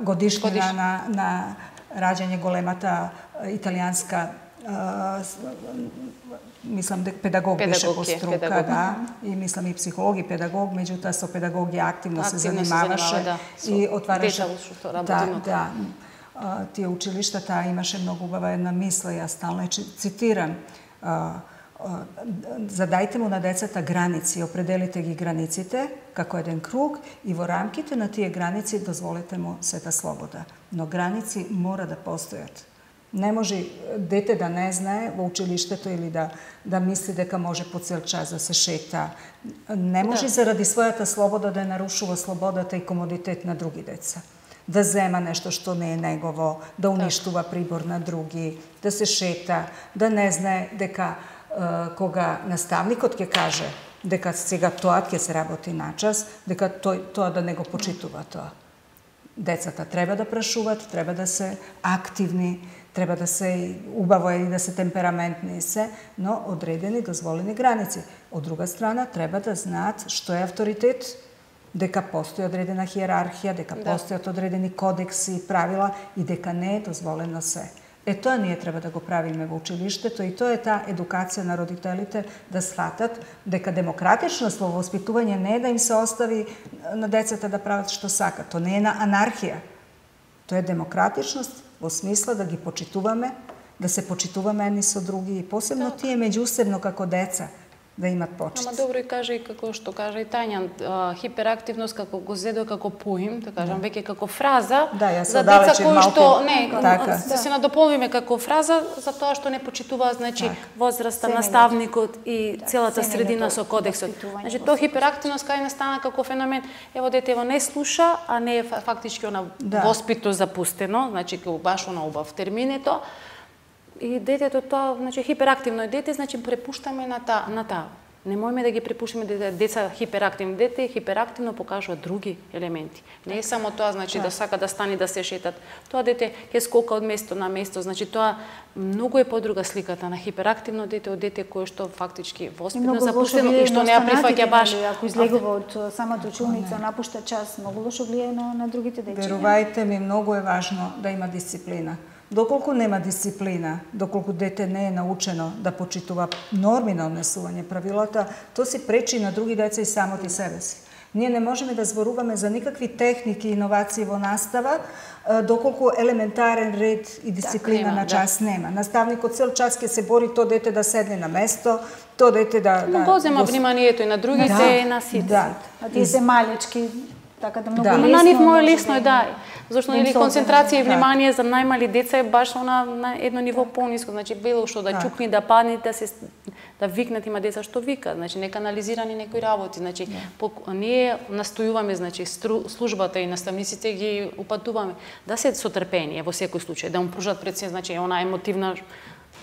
годишнина на раѓање големата италијанска, мислам дека педагог беше по струка, да, и мислам и психолог и педагог, меѓутоа со педагогија активно се занимаваше и отвараше. Да, тие училиштата имаше многу убава една мисла, јас стално цитирам, задајте му на децата граници, определите ги границите како еден круг и во рамките на тие граници дозволете му сета слобода. Но граници мора да постојат. Не може дете да не знае во училиштето или да мисли дека може по цел час да се шета. Не може заради својата слобода да нарушува слободата и комодитет на други деца. Да зема нешто што не е негово, да уништува прибор на други, да се шета, да не знае дека кога наставникот ќе каже дека сега тоа ќе се работи на час, дека тоа да не го почитува тоа. Децата треба да прашуваат, треба да се активни, треба да се убаво и да се темпераментни се, но одредени дозволени граници. Од друга страна, треба да знаат што е авторитет, дека постои одредена хиерархија, дека постојат одредени кодекси и правила и дека не е дозволено се. Тоа ние треба да го правиме во училиштето и тоа е таа едукација на родителите да сватат дека демократичност во воспитување не е да им се остави на децата да прават што сакат. Тоа не е на анархија. Тоа е демократичност во смисла да ги почитуваме, да се почитуваме едни со други и посебно тие меѓусебно како деца. да имат почит. Ама добро и кажа и како што кажа и Тања, хиперактивност како го зедо како поим, да кажам, веќе како фраза за деца кои што да се надополниме како фраза за тоа што не почитуваат, значи возраста, наставникот и целата средина со кодексот. Значи тоа хиперактивност кај настана како феномен, ево детево не слуша, а не е фактички она воспито запустено, значи како баш она убав термин е тоа. И детето тоа, значи хиперактивно е дете, значи препуштаме на таа. Немојме да ги препуштиме деца хиперактивни. Дете хиперактивно покажува други елементи. Не е само тоа, значи да сака да стани да се шетат. Тоа дете ќе скока од место на место, значи тоа многу е подруга сликата на хиперактивно дете од дете кое што фактички воспитно запуштено и што не ја прифаќа баш. Ако излегува од самата училница, напушта час, многу лошо влијае на другите дечиња. Верувајте ми, многу е важно да има дисциплина. Доколку нема дисциплина, доколку дете не е научено да почитува норми на однесување правилата, тоа си пречи на други деца и самот и себе си. Ние не можеме да зборуваме за никакви техники и иновации во настава, доколку елементарен ред и дисциплина на час нема. Наставникот цел час ќе се бори тоа дете да седне на место, тоа дете да го зема вниманието и на другите и на сите. А тие се малечки, така да многу лесно. На нив мој лесно е зашто нели концентрација и внимание за најмали деца е баш на едно ниво пониско, значи било што да чукни, да падне, да викнат, има деца што викаат, значи не канализирани некои работи, значи ние настојуваме, значи службата и наставниците ги упатуваме да се со трпение во секој случај, да му пружат пред се, значи она емотивна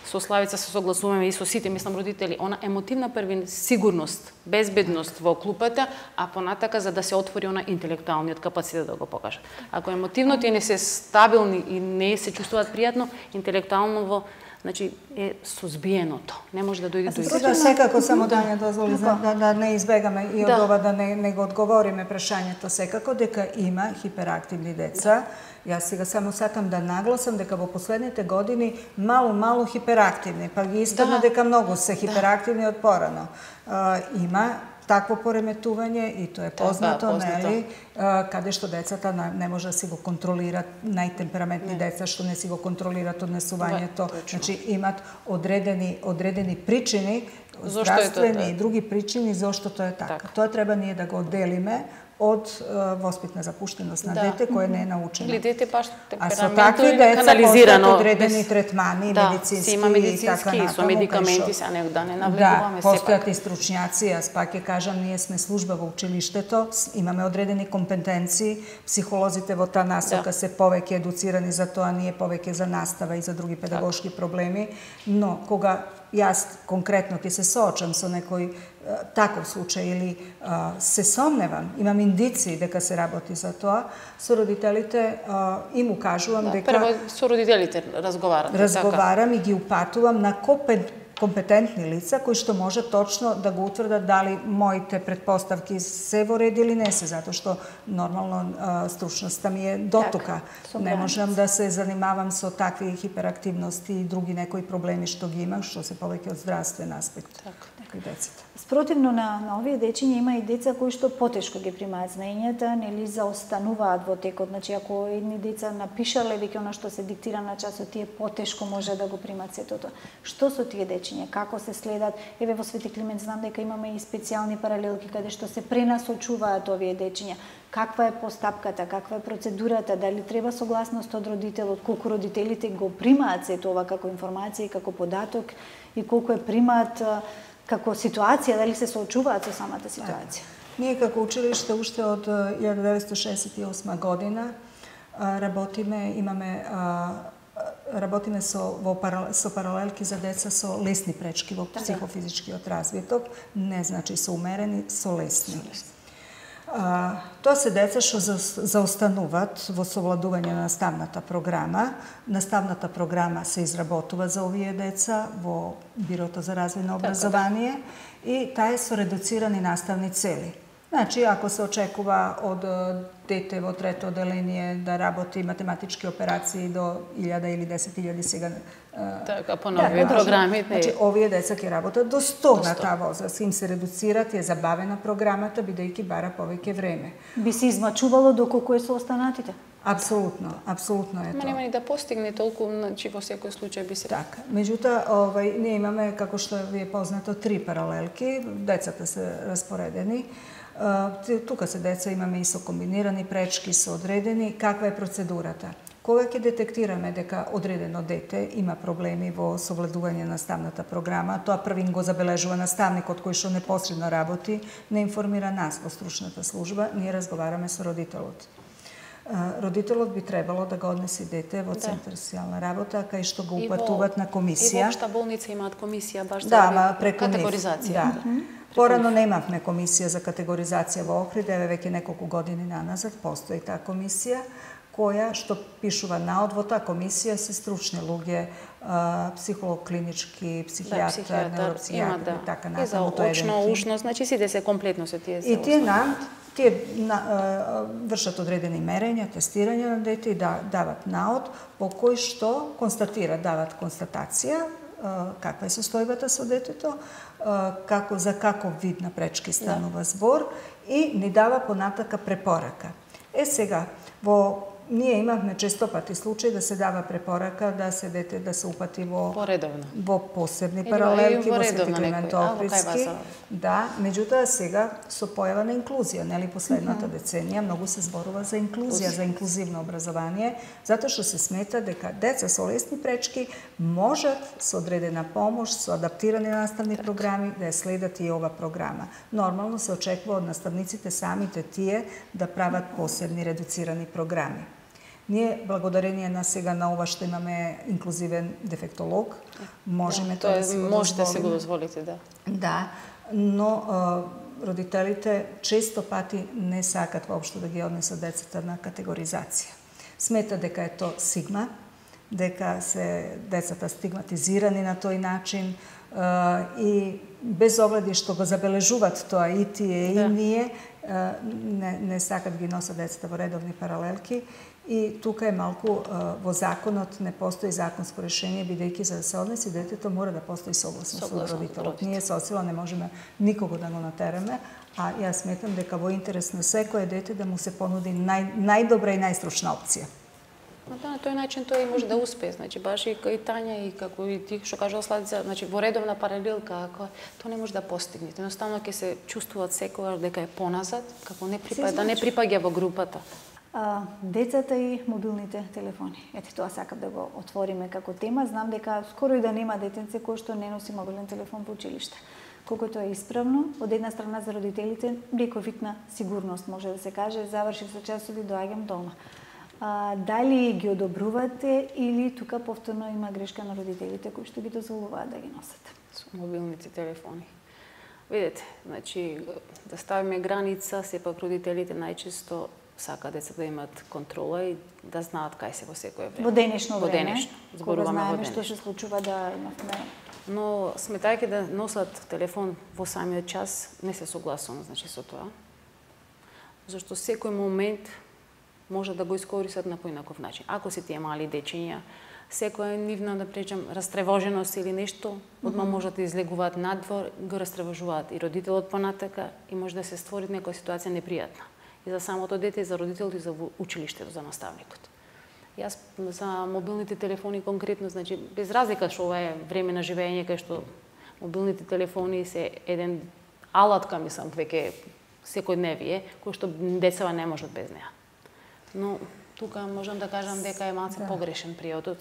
со Славица се согласуваме и со сите, мислам, родители, она емотивна првин сигурност, безбедност во клупата, а понатака за да се отвори она интелектуалниот капацитет да го покажат. Ако емотивно не се стабилни и не се чувствуваат пријатно, интелектуално значи е сузбиеното. Не може да дојде до израј. Секако само да не дозволи да не избегаме и од ова да не го одговориме прашањето, секако дека има хиперактивни деца. Јас сега само сакам да нагласам дека во последните години мало хиперактивни, па ги истадна дека многу се хиперактивни од порано. Има такво пореметување и тоа е познато, нели, каде што децата не може да си го контролират, најтемпераментни деца што не си го контролират однесувањето, значи имат одредени причини, здравствени и други причини зошто тоа е така. Тоа треба ние да го одделиме од воспитна запуштеност на дете кое не е научено. Или дете баш а со такви деца постојат одредени третмани, медицински и со медикаменти, се не да не навлегуваме сепак. Постојат и стручњаци, јас пак ќе кажам, ние сме служба во училиштето, имаме одредени компетенции, психолозите во таа насока се повеќе едуцирани за тоа, ние повеќе за настава и за други педагошки проблеми, но кога јас конкретно ќе се соочам со некој таков случај или се сомневам, имам индиции дека се работи за тоа, со родителите им укажувам дека... Прво со родителите разговарам и ги упатувам на компетентни лица кои што може точно да го утврдат дали моите предпоставки се во ред или не се, затоа што нормално стручноста ми е дотука. Не можам да се занимавам со такви хиперактивности и други некои проблеми што ги имам, што се повеќе од здравствен аспект кај децата. Спротивно на овие дечиња има и деца кои што потешко ги примаат знаењата, нели заостануваат во текот. Значи ако едни деца напишале веќе она што се диктира на часот, тие потешко може да го примат сето тоа. Што со тие дечиња, како се следат? Еве во Свети Климент знам дека имаме и специјални паралелки каде што се пренасочуваат овие дечиња. Каква е постапката, каква е процедурата, дали треба согласност од родителот, колку родителите го примаат сето ова како информација и како податок и колку е примаат како ситуација, дали се соочуваат со самата ситуација? Ние како училиште уште од 1968 година работиме со паралелки за деца со лесни пречки во психофизичкиот развиток, не значи со умерени, со лесни. Тоа се деца што заостануваат во совладување на наставната програма. Наставната програма се изработува за овие деца во Бирото за развој на образование и таа е со редуцирани наставни цели. Значи, ако се очекува од дете во трето оделение да работи математички операции до 1000 или 10.000 сега така по нови програми, значи овие деца ќе работат до 100 на таа возраст, им се редуцираат, е забавена програмата бидејќи бара повеќе време. Би се измачувало доколку е со останатите? Апсолутно е тоа. Нема ни да постигне толку, значи во секој случај би се... Така. Меѓутоа, ние имаме, како што ви е познато, 3 паралелки, децата се распоредени. Тука се деца имаме и со комбинирани пречки, со одредени. Каква е процедурата? Кога ќе детектираме дека одредено дете има проблеми во совладување на наставната програма, тоа првин го забележува наставникот кој што непосредно работи, не информира нас во стручната служба, ние разговараме со родителот. Родителот би требало да го однеси дете во центар социјална работа, кај што го упатуваат на комисија. И во општа болница имаат комисија баш за категоризација. Порано немавме комисија за категоризација во Охрид, веќе неколку години наназад постои таа комисија, која што пишува наод во таа комисија се стручни луѓе, психолог клинички, психијатар, невропсихијатар и така натаму. И за очно, ушно, значи сите се комплетно се тие. И тие вршат одредени мерења, тестирање на дете и дават наод по кој што дават констатација каква е состојбата со детето, за каков вид на пречки станува збор и ни дава понатака препорака. Сега, ние имавме често пати случај да се дава препорака да се дете да се упати во посебни паралелки, во Свети Климент Охридски. Да, меѓутоа сега со појава на инклузија, нели последната деценија многу се зборува за инклузија, за инклузивно образование, затоа што се смета дека деца со лесни пречки можат со одредена помош, со адаптирани наставни програми да ја следат и ова програма. Нормално се очекува од наставниците самите тие да прават посебни редуцирани програми. Ние, благодарение на сега на ова што имаме инклузивен дефектолог, можеме тоа да си го дозволиме. Можете да си го дозволите, да. Да, но родителите често пати не сакат воопшто да ги однесат децата на категоризација. Смета дека е тоа сигма, дека се децата стигматизирани на тој начин и без огледи што го забележуваат тоа и тие и ние, не сакат ги носат децата во редовни паралелки. И тука е малку во законот не постои законско решение, бидејќи за да се однеси детето мора да постои согласност со родителот. Ние со сила не можеме никого да го натераме, а јас сметам дека во интерес на секое дете да му се понуди најдобра и најстручна опција. На тој начин тој може да успее, значи баш и Тања и како и ти што кажала Славица, значи во редовна паралелка, тоа не може да постигне. Едноставно ќе се чувствуваат секогаш дека е поназад, како не припаѓа во групата. Децата и мобилните телефони. Ете, тоа сакам да го отвориме како тема. Знам дека скоро и да нема детенце кој што не носи мобилен телефон во училиште. Колку тоа е исправно, од една страна за родителите, некој вид на сигурност, може да се каже, завршив со часови, доаѓам дома. Дали ги одобрувате или тука повторно има грешка на родителите кои што ги дозволуваат да ги носат? Со мобилните телефони. Видете, значи, да ставиме граница, сепак родителите најчесто сака децата да имат контрола и да знаат кај се во секое време. Во денешно време, кога знаеме што се случува да имавме. Но сметајќи да носат телефон во самиот час, не се согласувам, значи, со тоа. Зашто секој момент може да го искористат на поинаков начин. Ако се тие мали дечиња, секоја нивна, да пречам, растревоженост или нешто, одма можат да излегуваат надвор, го растревожуваат и родителот понатака и може да се створи некоја ситуација непријатна. И за самото дете, и за родителот, и за училиштето, за наставникот. Јас за мобилните телефони конкретно, значи, без разлика што ова е време на живење, кај што мобилните телефони се еден алатка, мислам, веќе секојдневие, кој што децава не можат без неа. Но тука можам да кажам дека е малку погрешен приодот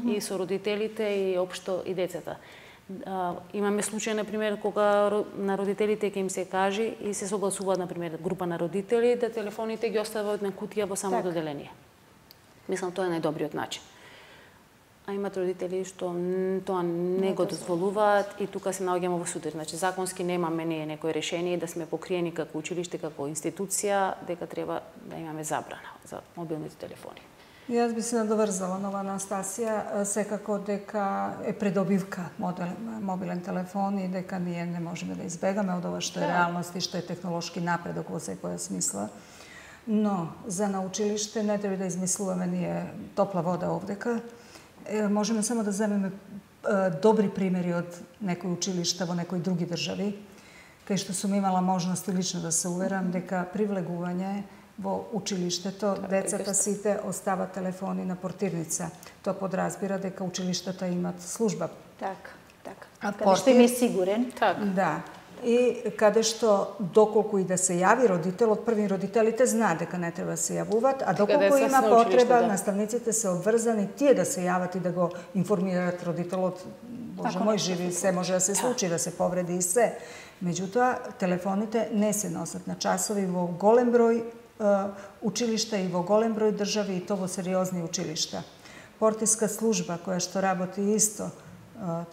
и со родителите и општо и децата. Имаме случај, например, кога на родителите ќе им се каже и се согласуваат, например, група на родители да телефоните ги остават на кутија во самото деление. Мислам, тоа е најдобриот начин. А имат родители што тоа не го дозволуваат и тука се наоѓаме во судир. Значи, законски немаме ние некој решение да сме покриени како училиште, како институција, дека треба да имаме забрана за мобилните телефони. Јас би се надоврзала на ова Анастасија, секако дека е придобивка мобилен телефон и дека ние не можеме да избегаме од ова што е реалност и што е технолошки напредок во секоја смисла. Но за на училиште не треба да измислуваме ние топла вода овдека. Можеме само да земеме добри примери од некои училишта во некои други држави, кај што сум имала можност и лично да се уверам дека привлегување во училиштето, децата сите остават телефони на портирница. Тоа подразбира дека училиштата имат служба. Така. Каде што им е сигурен. Да. И каде што доколку и да се јави родител, од први родителите знаат дека не треба да се јавуваат, а доколку има потреба, наставниците се обврзани тие да се јават и да го информираат родителот. Боже мој, живи, се може да се случи, да се повреди и се. Меѓутоа, телефоните не се носат на часови во голем број училишта и во голем број држави, и то во сериозни училишта. Портиска служба која што работи исто,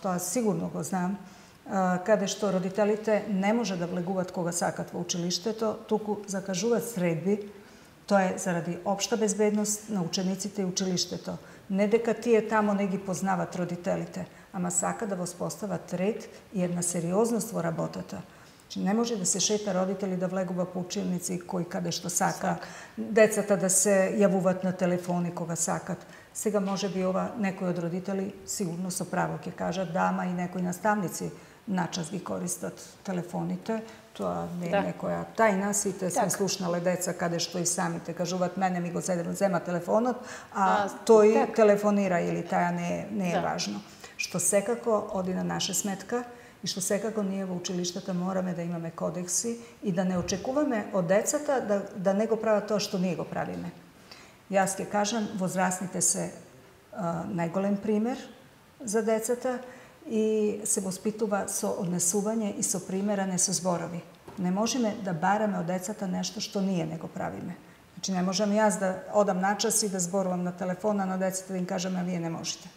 тоа сигурно го знам, каде што родителите не може да влегуваат кога сакат во училиштето, туку закажуваат средби, тоа е заради општа безбедност на учениците и училиштето. Не дека тие тамо не ги познават родителите, ама сака да воспостават ред и една сериозност во работата. Не може да се шета родители да влегува по училници кој каде што сака, децата да се јавуваат на телефони кога сакат. Сега може би ова некои од родители сигурно со право ќе кажат да, ама и некои наставници начас ги користат телефоните. Тоа не е некоја тајна, сите сме слушнале деца каде што и самите кажуваат мене ми го зема телефонот, а тој телефонира или таја не е важно. Што секако оди на наша сметка и што секако ние во училиштата мораме да имаме кодекси и да не очекуваме од децата да не го прават тоа што ние го правиме. Јас ќе кажам, возрастните се најголем пример за децата и се воспитува со однесување и со пример, а не со зборови. Не можеме да бараме од децата нешто што ние не го правиме. Значи не можам јас да одам на час и да зборувам на телефона на децата да им кажам, а вие не можете.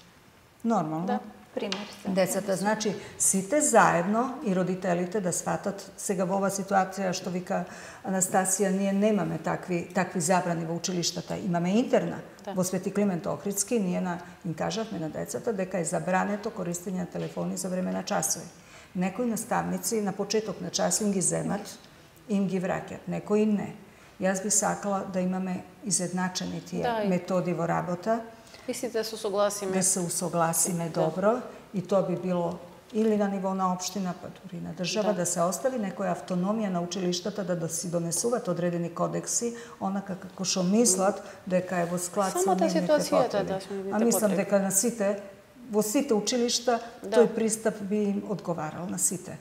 Нормално. Да, пример. Децата, значи, сите заедно и родителите да сватат, сега во ова ситуација што вика Анастасија, ние немаме такви забрани во училиштата. Имаме интерна. Во Свети Климент Охридски ние им кажавме на децата дека е забрането користење на телефони за време на часови. Некои наставници на почеток на час им ги земат и им ги враќат, некои не. Јас би сакала да имаме изедначени тие методи во работа. Мислите да се усогласиме? Да се усогласиме добро и тоа би било или на ниво на општина, па дури на држава, да се остави некоја автономија на училиштата да си донесуваат одредени кодекси, онака како што мислат дека е во склад со нивните потреби. А мислам дека на сите, во сите училишта, тој пристап би им одговарал на сите.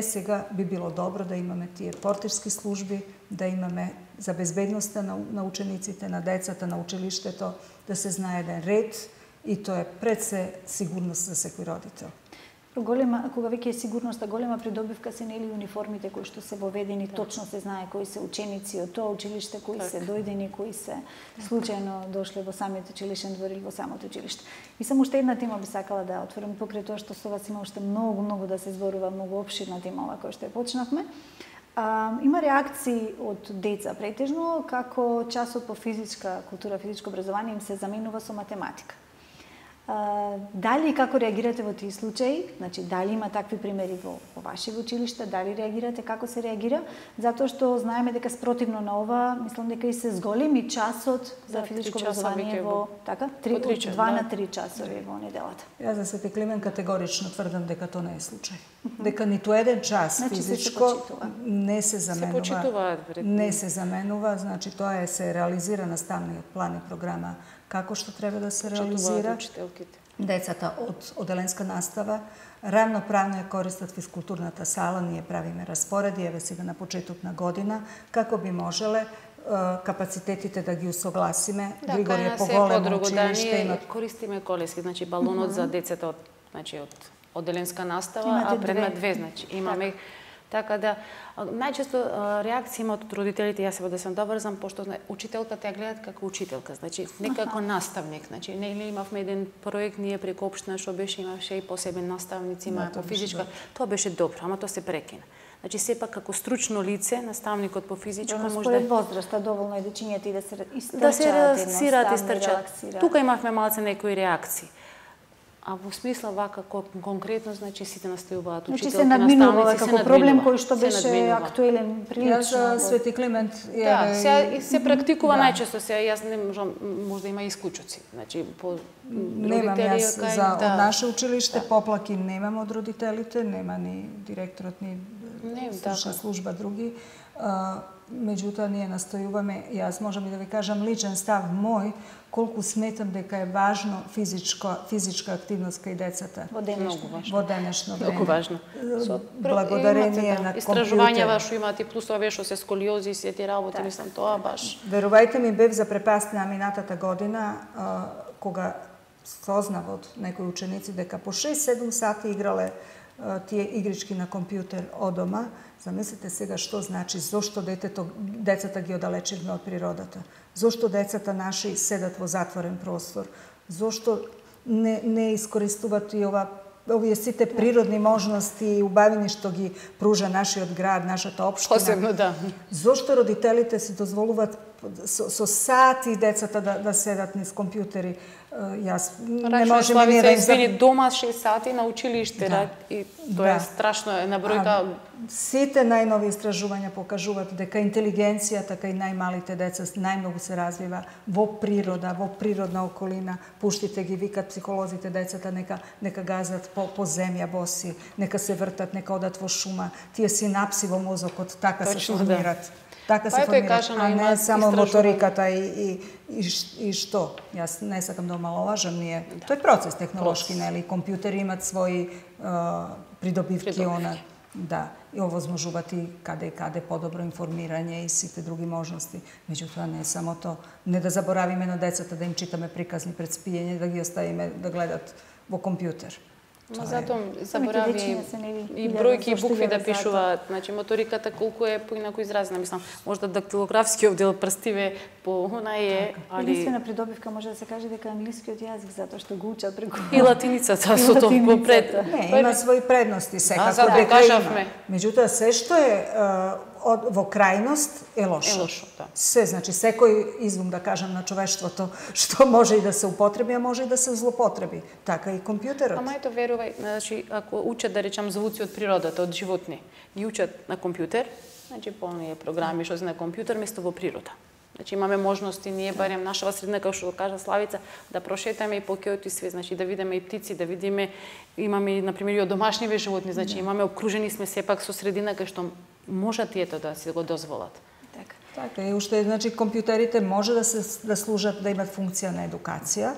Сега би било добро да имаме тие портирски служби, да имаме за безбедноста на учениците, на децата, на училиштето, да се знае еден ред и тоа е пред се сигурност за секој родител. Кога веќе е сигурноста, голема придобивка се нели униформите кои што се воведени, точно се знае кои се ученици од тоа училиште, кои се дојдени, кои се случајно дошле во самиот училишен двор или во самото училиште. И само уште една тема би сакала да отворам покрај тоа што со вас има уште многу да се зборува, многу опширна тема ова која што ја почнавме. Има реакции од деца претежно како часот по физичка култура, физичко образование им се заменува со математика. Дали и како реагирате во тие случаи? Значи, дали има такви примери во ваши училишта? Дали реагирате? Како се реагира? Затоа што знаеме дека спротивно на ова, мислам дека и се зголеми часот за физичко образование во така, 2 на 3 часови во неделата. Јас за Свети Климент категорично тврдам дека тоа не е случај. Дека ниту еден час физичко не се заменува. Не се заменува, значи тоа се реализира наставниот план и програма како што треба да се реализира. Децата од оделенска настава равноправно ја користат физкултурната сала, ние правиме распореди, еве сега на почеток на година, како би можеле капацитетите да ги усогласиме. Григор е поголемо училиште. Ние користиме колески, значи балонот за децата од оделенска настава, а предмет 2, значи имаме. Така да, најчесто реакција имаат од родителите, јас да сам доврзам, пошто учителката ја гледат како учителка, значи не како наставник. Значи, нели имавме еден проект ние преку општина што имаше и посебен наставници, има по физичка. Тоа беше добро, ама тоа се прекина. Значи сепак како стручно лице, наставникот по физичко може според возраста доволно е дечињата и да се истрчаат, да се релаксираат и стрчаат. Тука имавме малце некои реакции. А во смисла вака конкретно, значи сите настојуваат учителки, се надминува како проблем кој што беше актуелен прилично. Свети Климент се практикува најчесто се, јас не можам, можда има исклучоци. Значи по немам јас од наше училиште поплаки немам од родителите, нема ни директорот ни стручна служба други. Меѓутоа, ние настојуваме, јас можам и да ви кажам личен став мој, колку сметам дека е важно физичка активност кај децата. Во денешно време. Многу важно. Благодарение на компјутер. Истражувањава што имаат и плюс овие што се сколиози и сите работи, мислам, тоа баш. Верувајте ми, бев запрепастена минатата година, кога сознав од некои ученици дека по 6-7 сати играле тие игрички на компјутер од дома. Замислете сега што значи, зошто децата ги оддалечивме од природата, зошто децата наши седат во затворен простор, зошто не искористуваат и овие сите природни можности и убавини што ги пружа нашиот град, нашата општина. Посебно, да. Зошто родителите се дозволуваат со сати децата да седат низ компјутери? Јас не можем ние да извини дома 6 сати на училиште, и тоа е страшно една бројка. Сите најнови истражувања покажуваат дека интелигенцијата кај најмалите деца најмногу се развива во природа, во природна околина. Пуштите ги, викат психолозите децата, нека газат по земја боси, нека се вртат, нека одат во шума. Тие синапси во мозокот така се формират. Така се формира, а не само моториката и што. Јас не сакам да омаловажам, тој е процес технолошки, нели? Компјутери имат своји придобивки, да, и овозможуваат и каде подобро информирање и сите други можности. Меѓутоа не е само тоа. Не да заборавиме на децата да им читаме приказни пред спиење, да ги оставиме да гледат во компјутер. Но затоа заборави и бројки и букви да пишуваат. Значи, моториката колку е поинаку изразена. Мислам, можда дактилографскиот дел прстиве по она е, али... Единствена придобивка може да се каже дека англискиот јазик, затоа што го учат преку... И латиницата, со толку пред... Не, има своји предности, секако дека има. Меѓутоа, се што е во крајност е лошо. Е лошо, да. Се, значи, секој извум, да кажам, на човештвото, што може и да се употреби, а може и да се злопотреби. Така и компјутерот. Ама ето, верувај, значи, ако учат, да речам, звуци од природата, од животни, ги учат на компјутер, значи, по оние програми што се на компјутер, место во природа. Значи, имаме можности, ние, барем нашава средина, како што кажа Славица, да прошетаме и по кеот и све, значи, да видиме и птици, да видиме, имаме, например, и од домашниве животни, значи, имаме, обкружени сме сепак со средина кај што можат и ето да си го дозволат. Така, и уште, значи, компјутерите може да служат, да имат функција на едукација,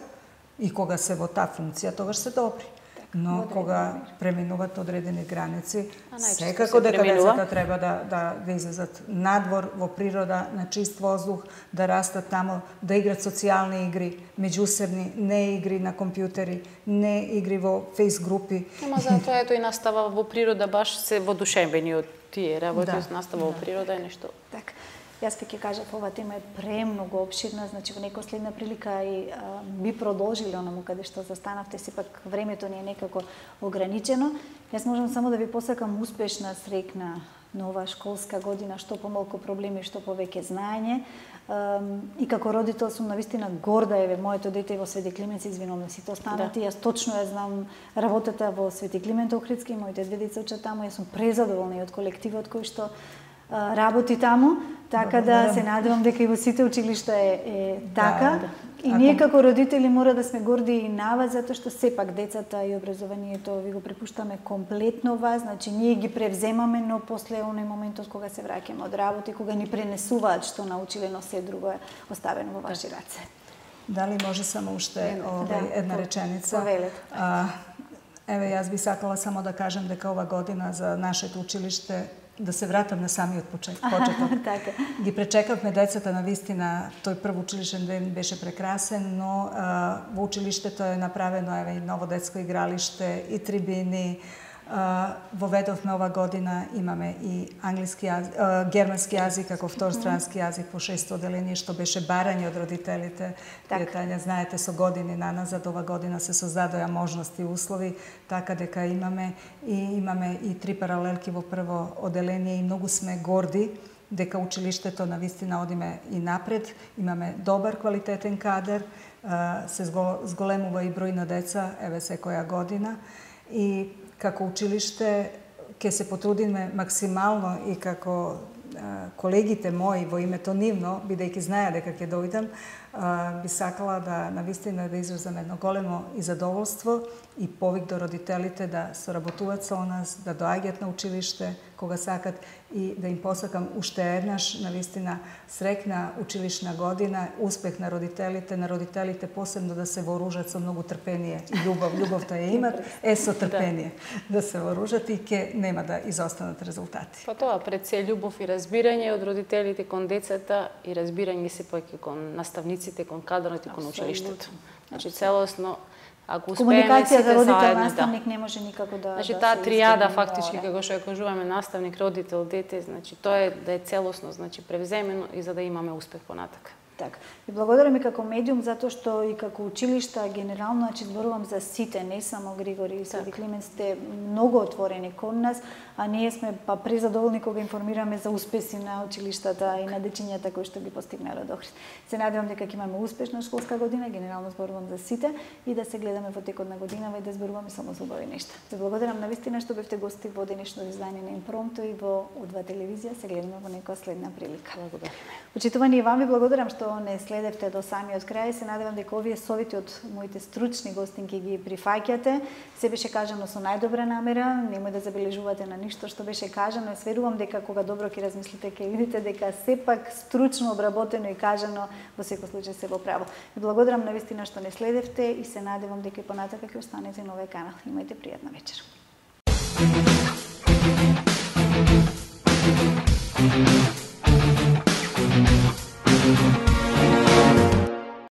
и кога се во таа функција, тогаш се добри. Но кога преминуваат одредени граници, секако дека децата треба да излезат надвор, во природа, на чист воздух, да растат таму, да играт социјални игри, меѓусебни, не игри на компјутери, не игри во фейс групи. Ама затоа ето и настава во природа, баш се водушевени од тие работи, настава во природа е нешто. Така. Јас ќе кажав, ова тема е премногу опширна, значи во некоја следна прилика и би продолжили онаму каде што застанавте, сепак времето ни е некако ограничено. Јас можам само да ви посакам успешна, среќна нова школска година, што помалку проблеми, што повеќе знаење. И како родител сум навистина горда, еве, моето дете во Свети Климент, се извинувам сите останати, јас точно ја знам работата во Свети Климент Охридски, моите две деца учат таму, јас сум презадоволна и од колективот кој што работи таму, така да се надевам дека и во сите училишта е така. И ние како родители мора да сме горди и на вас, затоа што сепак децата и образованието ви го препуштаме комплетно вас, значи ние ги превземаме, но после оној моментот кога се враќаме од работа и кога ни пренесуваат што научиле, но се друго е оставено во ваши раце. Дали може само уште една реченица? Еве, јас би сакала само да кажам дека ова година за нашето училиште, да се вратам на самиот почеток. Ги пречекавме децата, на вистина, тој прв училишен ден беше прекрасен, но во училиштето е направено и ново детско игралиште, и трибини. Воведовме ова година, имаме и германски јазик како втор странски јазик по 6 оделение, што беше барање од родителите. Тања, знаете, со години наназад, ова година се создадоа можности и услови, така дека имаме и 3 паралелки во прво оделение и многу сме горди дека училиштето на вистина одиме и напред, имаме добар квалитетен кадар, се зголемува и број на деца, еве секоја година, и како училиште ќе се потрудиме максимално и како колегите мои во името нивно, бидејќи знаја дека ќе дојдам, би сакала да навистина да изразам едно големо и задоволство и повик до родителите да соработуваат со нас, да доаѓаат на училиште, кога сакат и да им посакам уште еднаш навистина среќна училишна година, успех на родителите посебно да се вооружат со многу трпение и љубов. Љубовта ја имат, со трпение да се вооружат и ќе нема да изостанат резултати. Па тоа, пред се љубов и разбирање од родителите кон децата и разбирање се пак кон наставниците, кон кадрот и кон училиштето. Значи целосно, ако успееме сите заедно, родител-наставник не може никако да... Значи таа тријада фактички, како што ја кажуваме, наставник, родител, дете, значи тоа е да е целосно, значи превземено и за да имаме успех понатака. Така. И благодарам и како медиум затоа што и како училишта генерално, значи зборувам за сите, не само Григори и Свети Климент, сте многу отворени кон нас, а ние сме па презадоволни кога информираме за успеси на училиштата и на дечињата кои што ги постигнале до Охрид. Се надевам дека ќе имаме успешна школска година, генерално зборувам за сите и да се гледаме во текот на годинава и да зборуваме само за убави нешта. Се благодарам навистина што бевте гости во денешно издание на Импромто и во Удва телевизија. Се гледаме во некоја следна прилика. Благодарам. Учитувани и вам ви благодарам што не следевте до самиот крај. Се надевам дека овие совети од моите стручни гостинки ги прифаќате. Се беше кажано со најдобра намера, немој да забележувате на ништо што беше кажано. Сверувам дека кога добро ќе размислите, ќе видите дека сепак стручно обработено и кажано во секој случај се во право. Ви благодарам навистина што не следевте и се надевам дека и понатака ќе останете на овој канал. Имајте пријатна вечер. Thank you.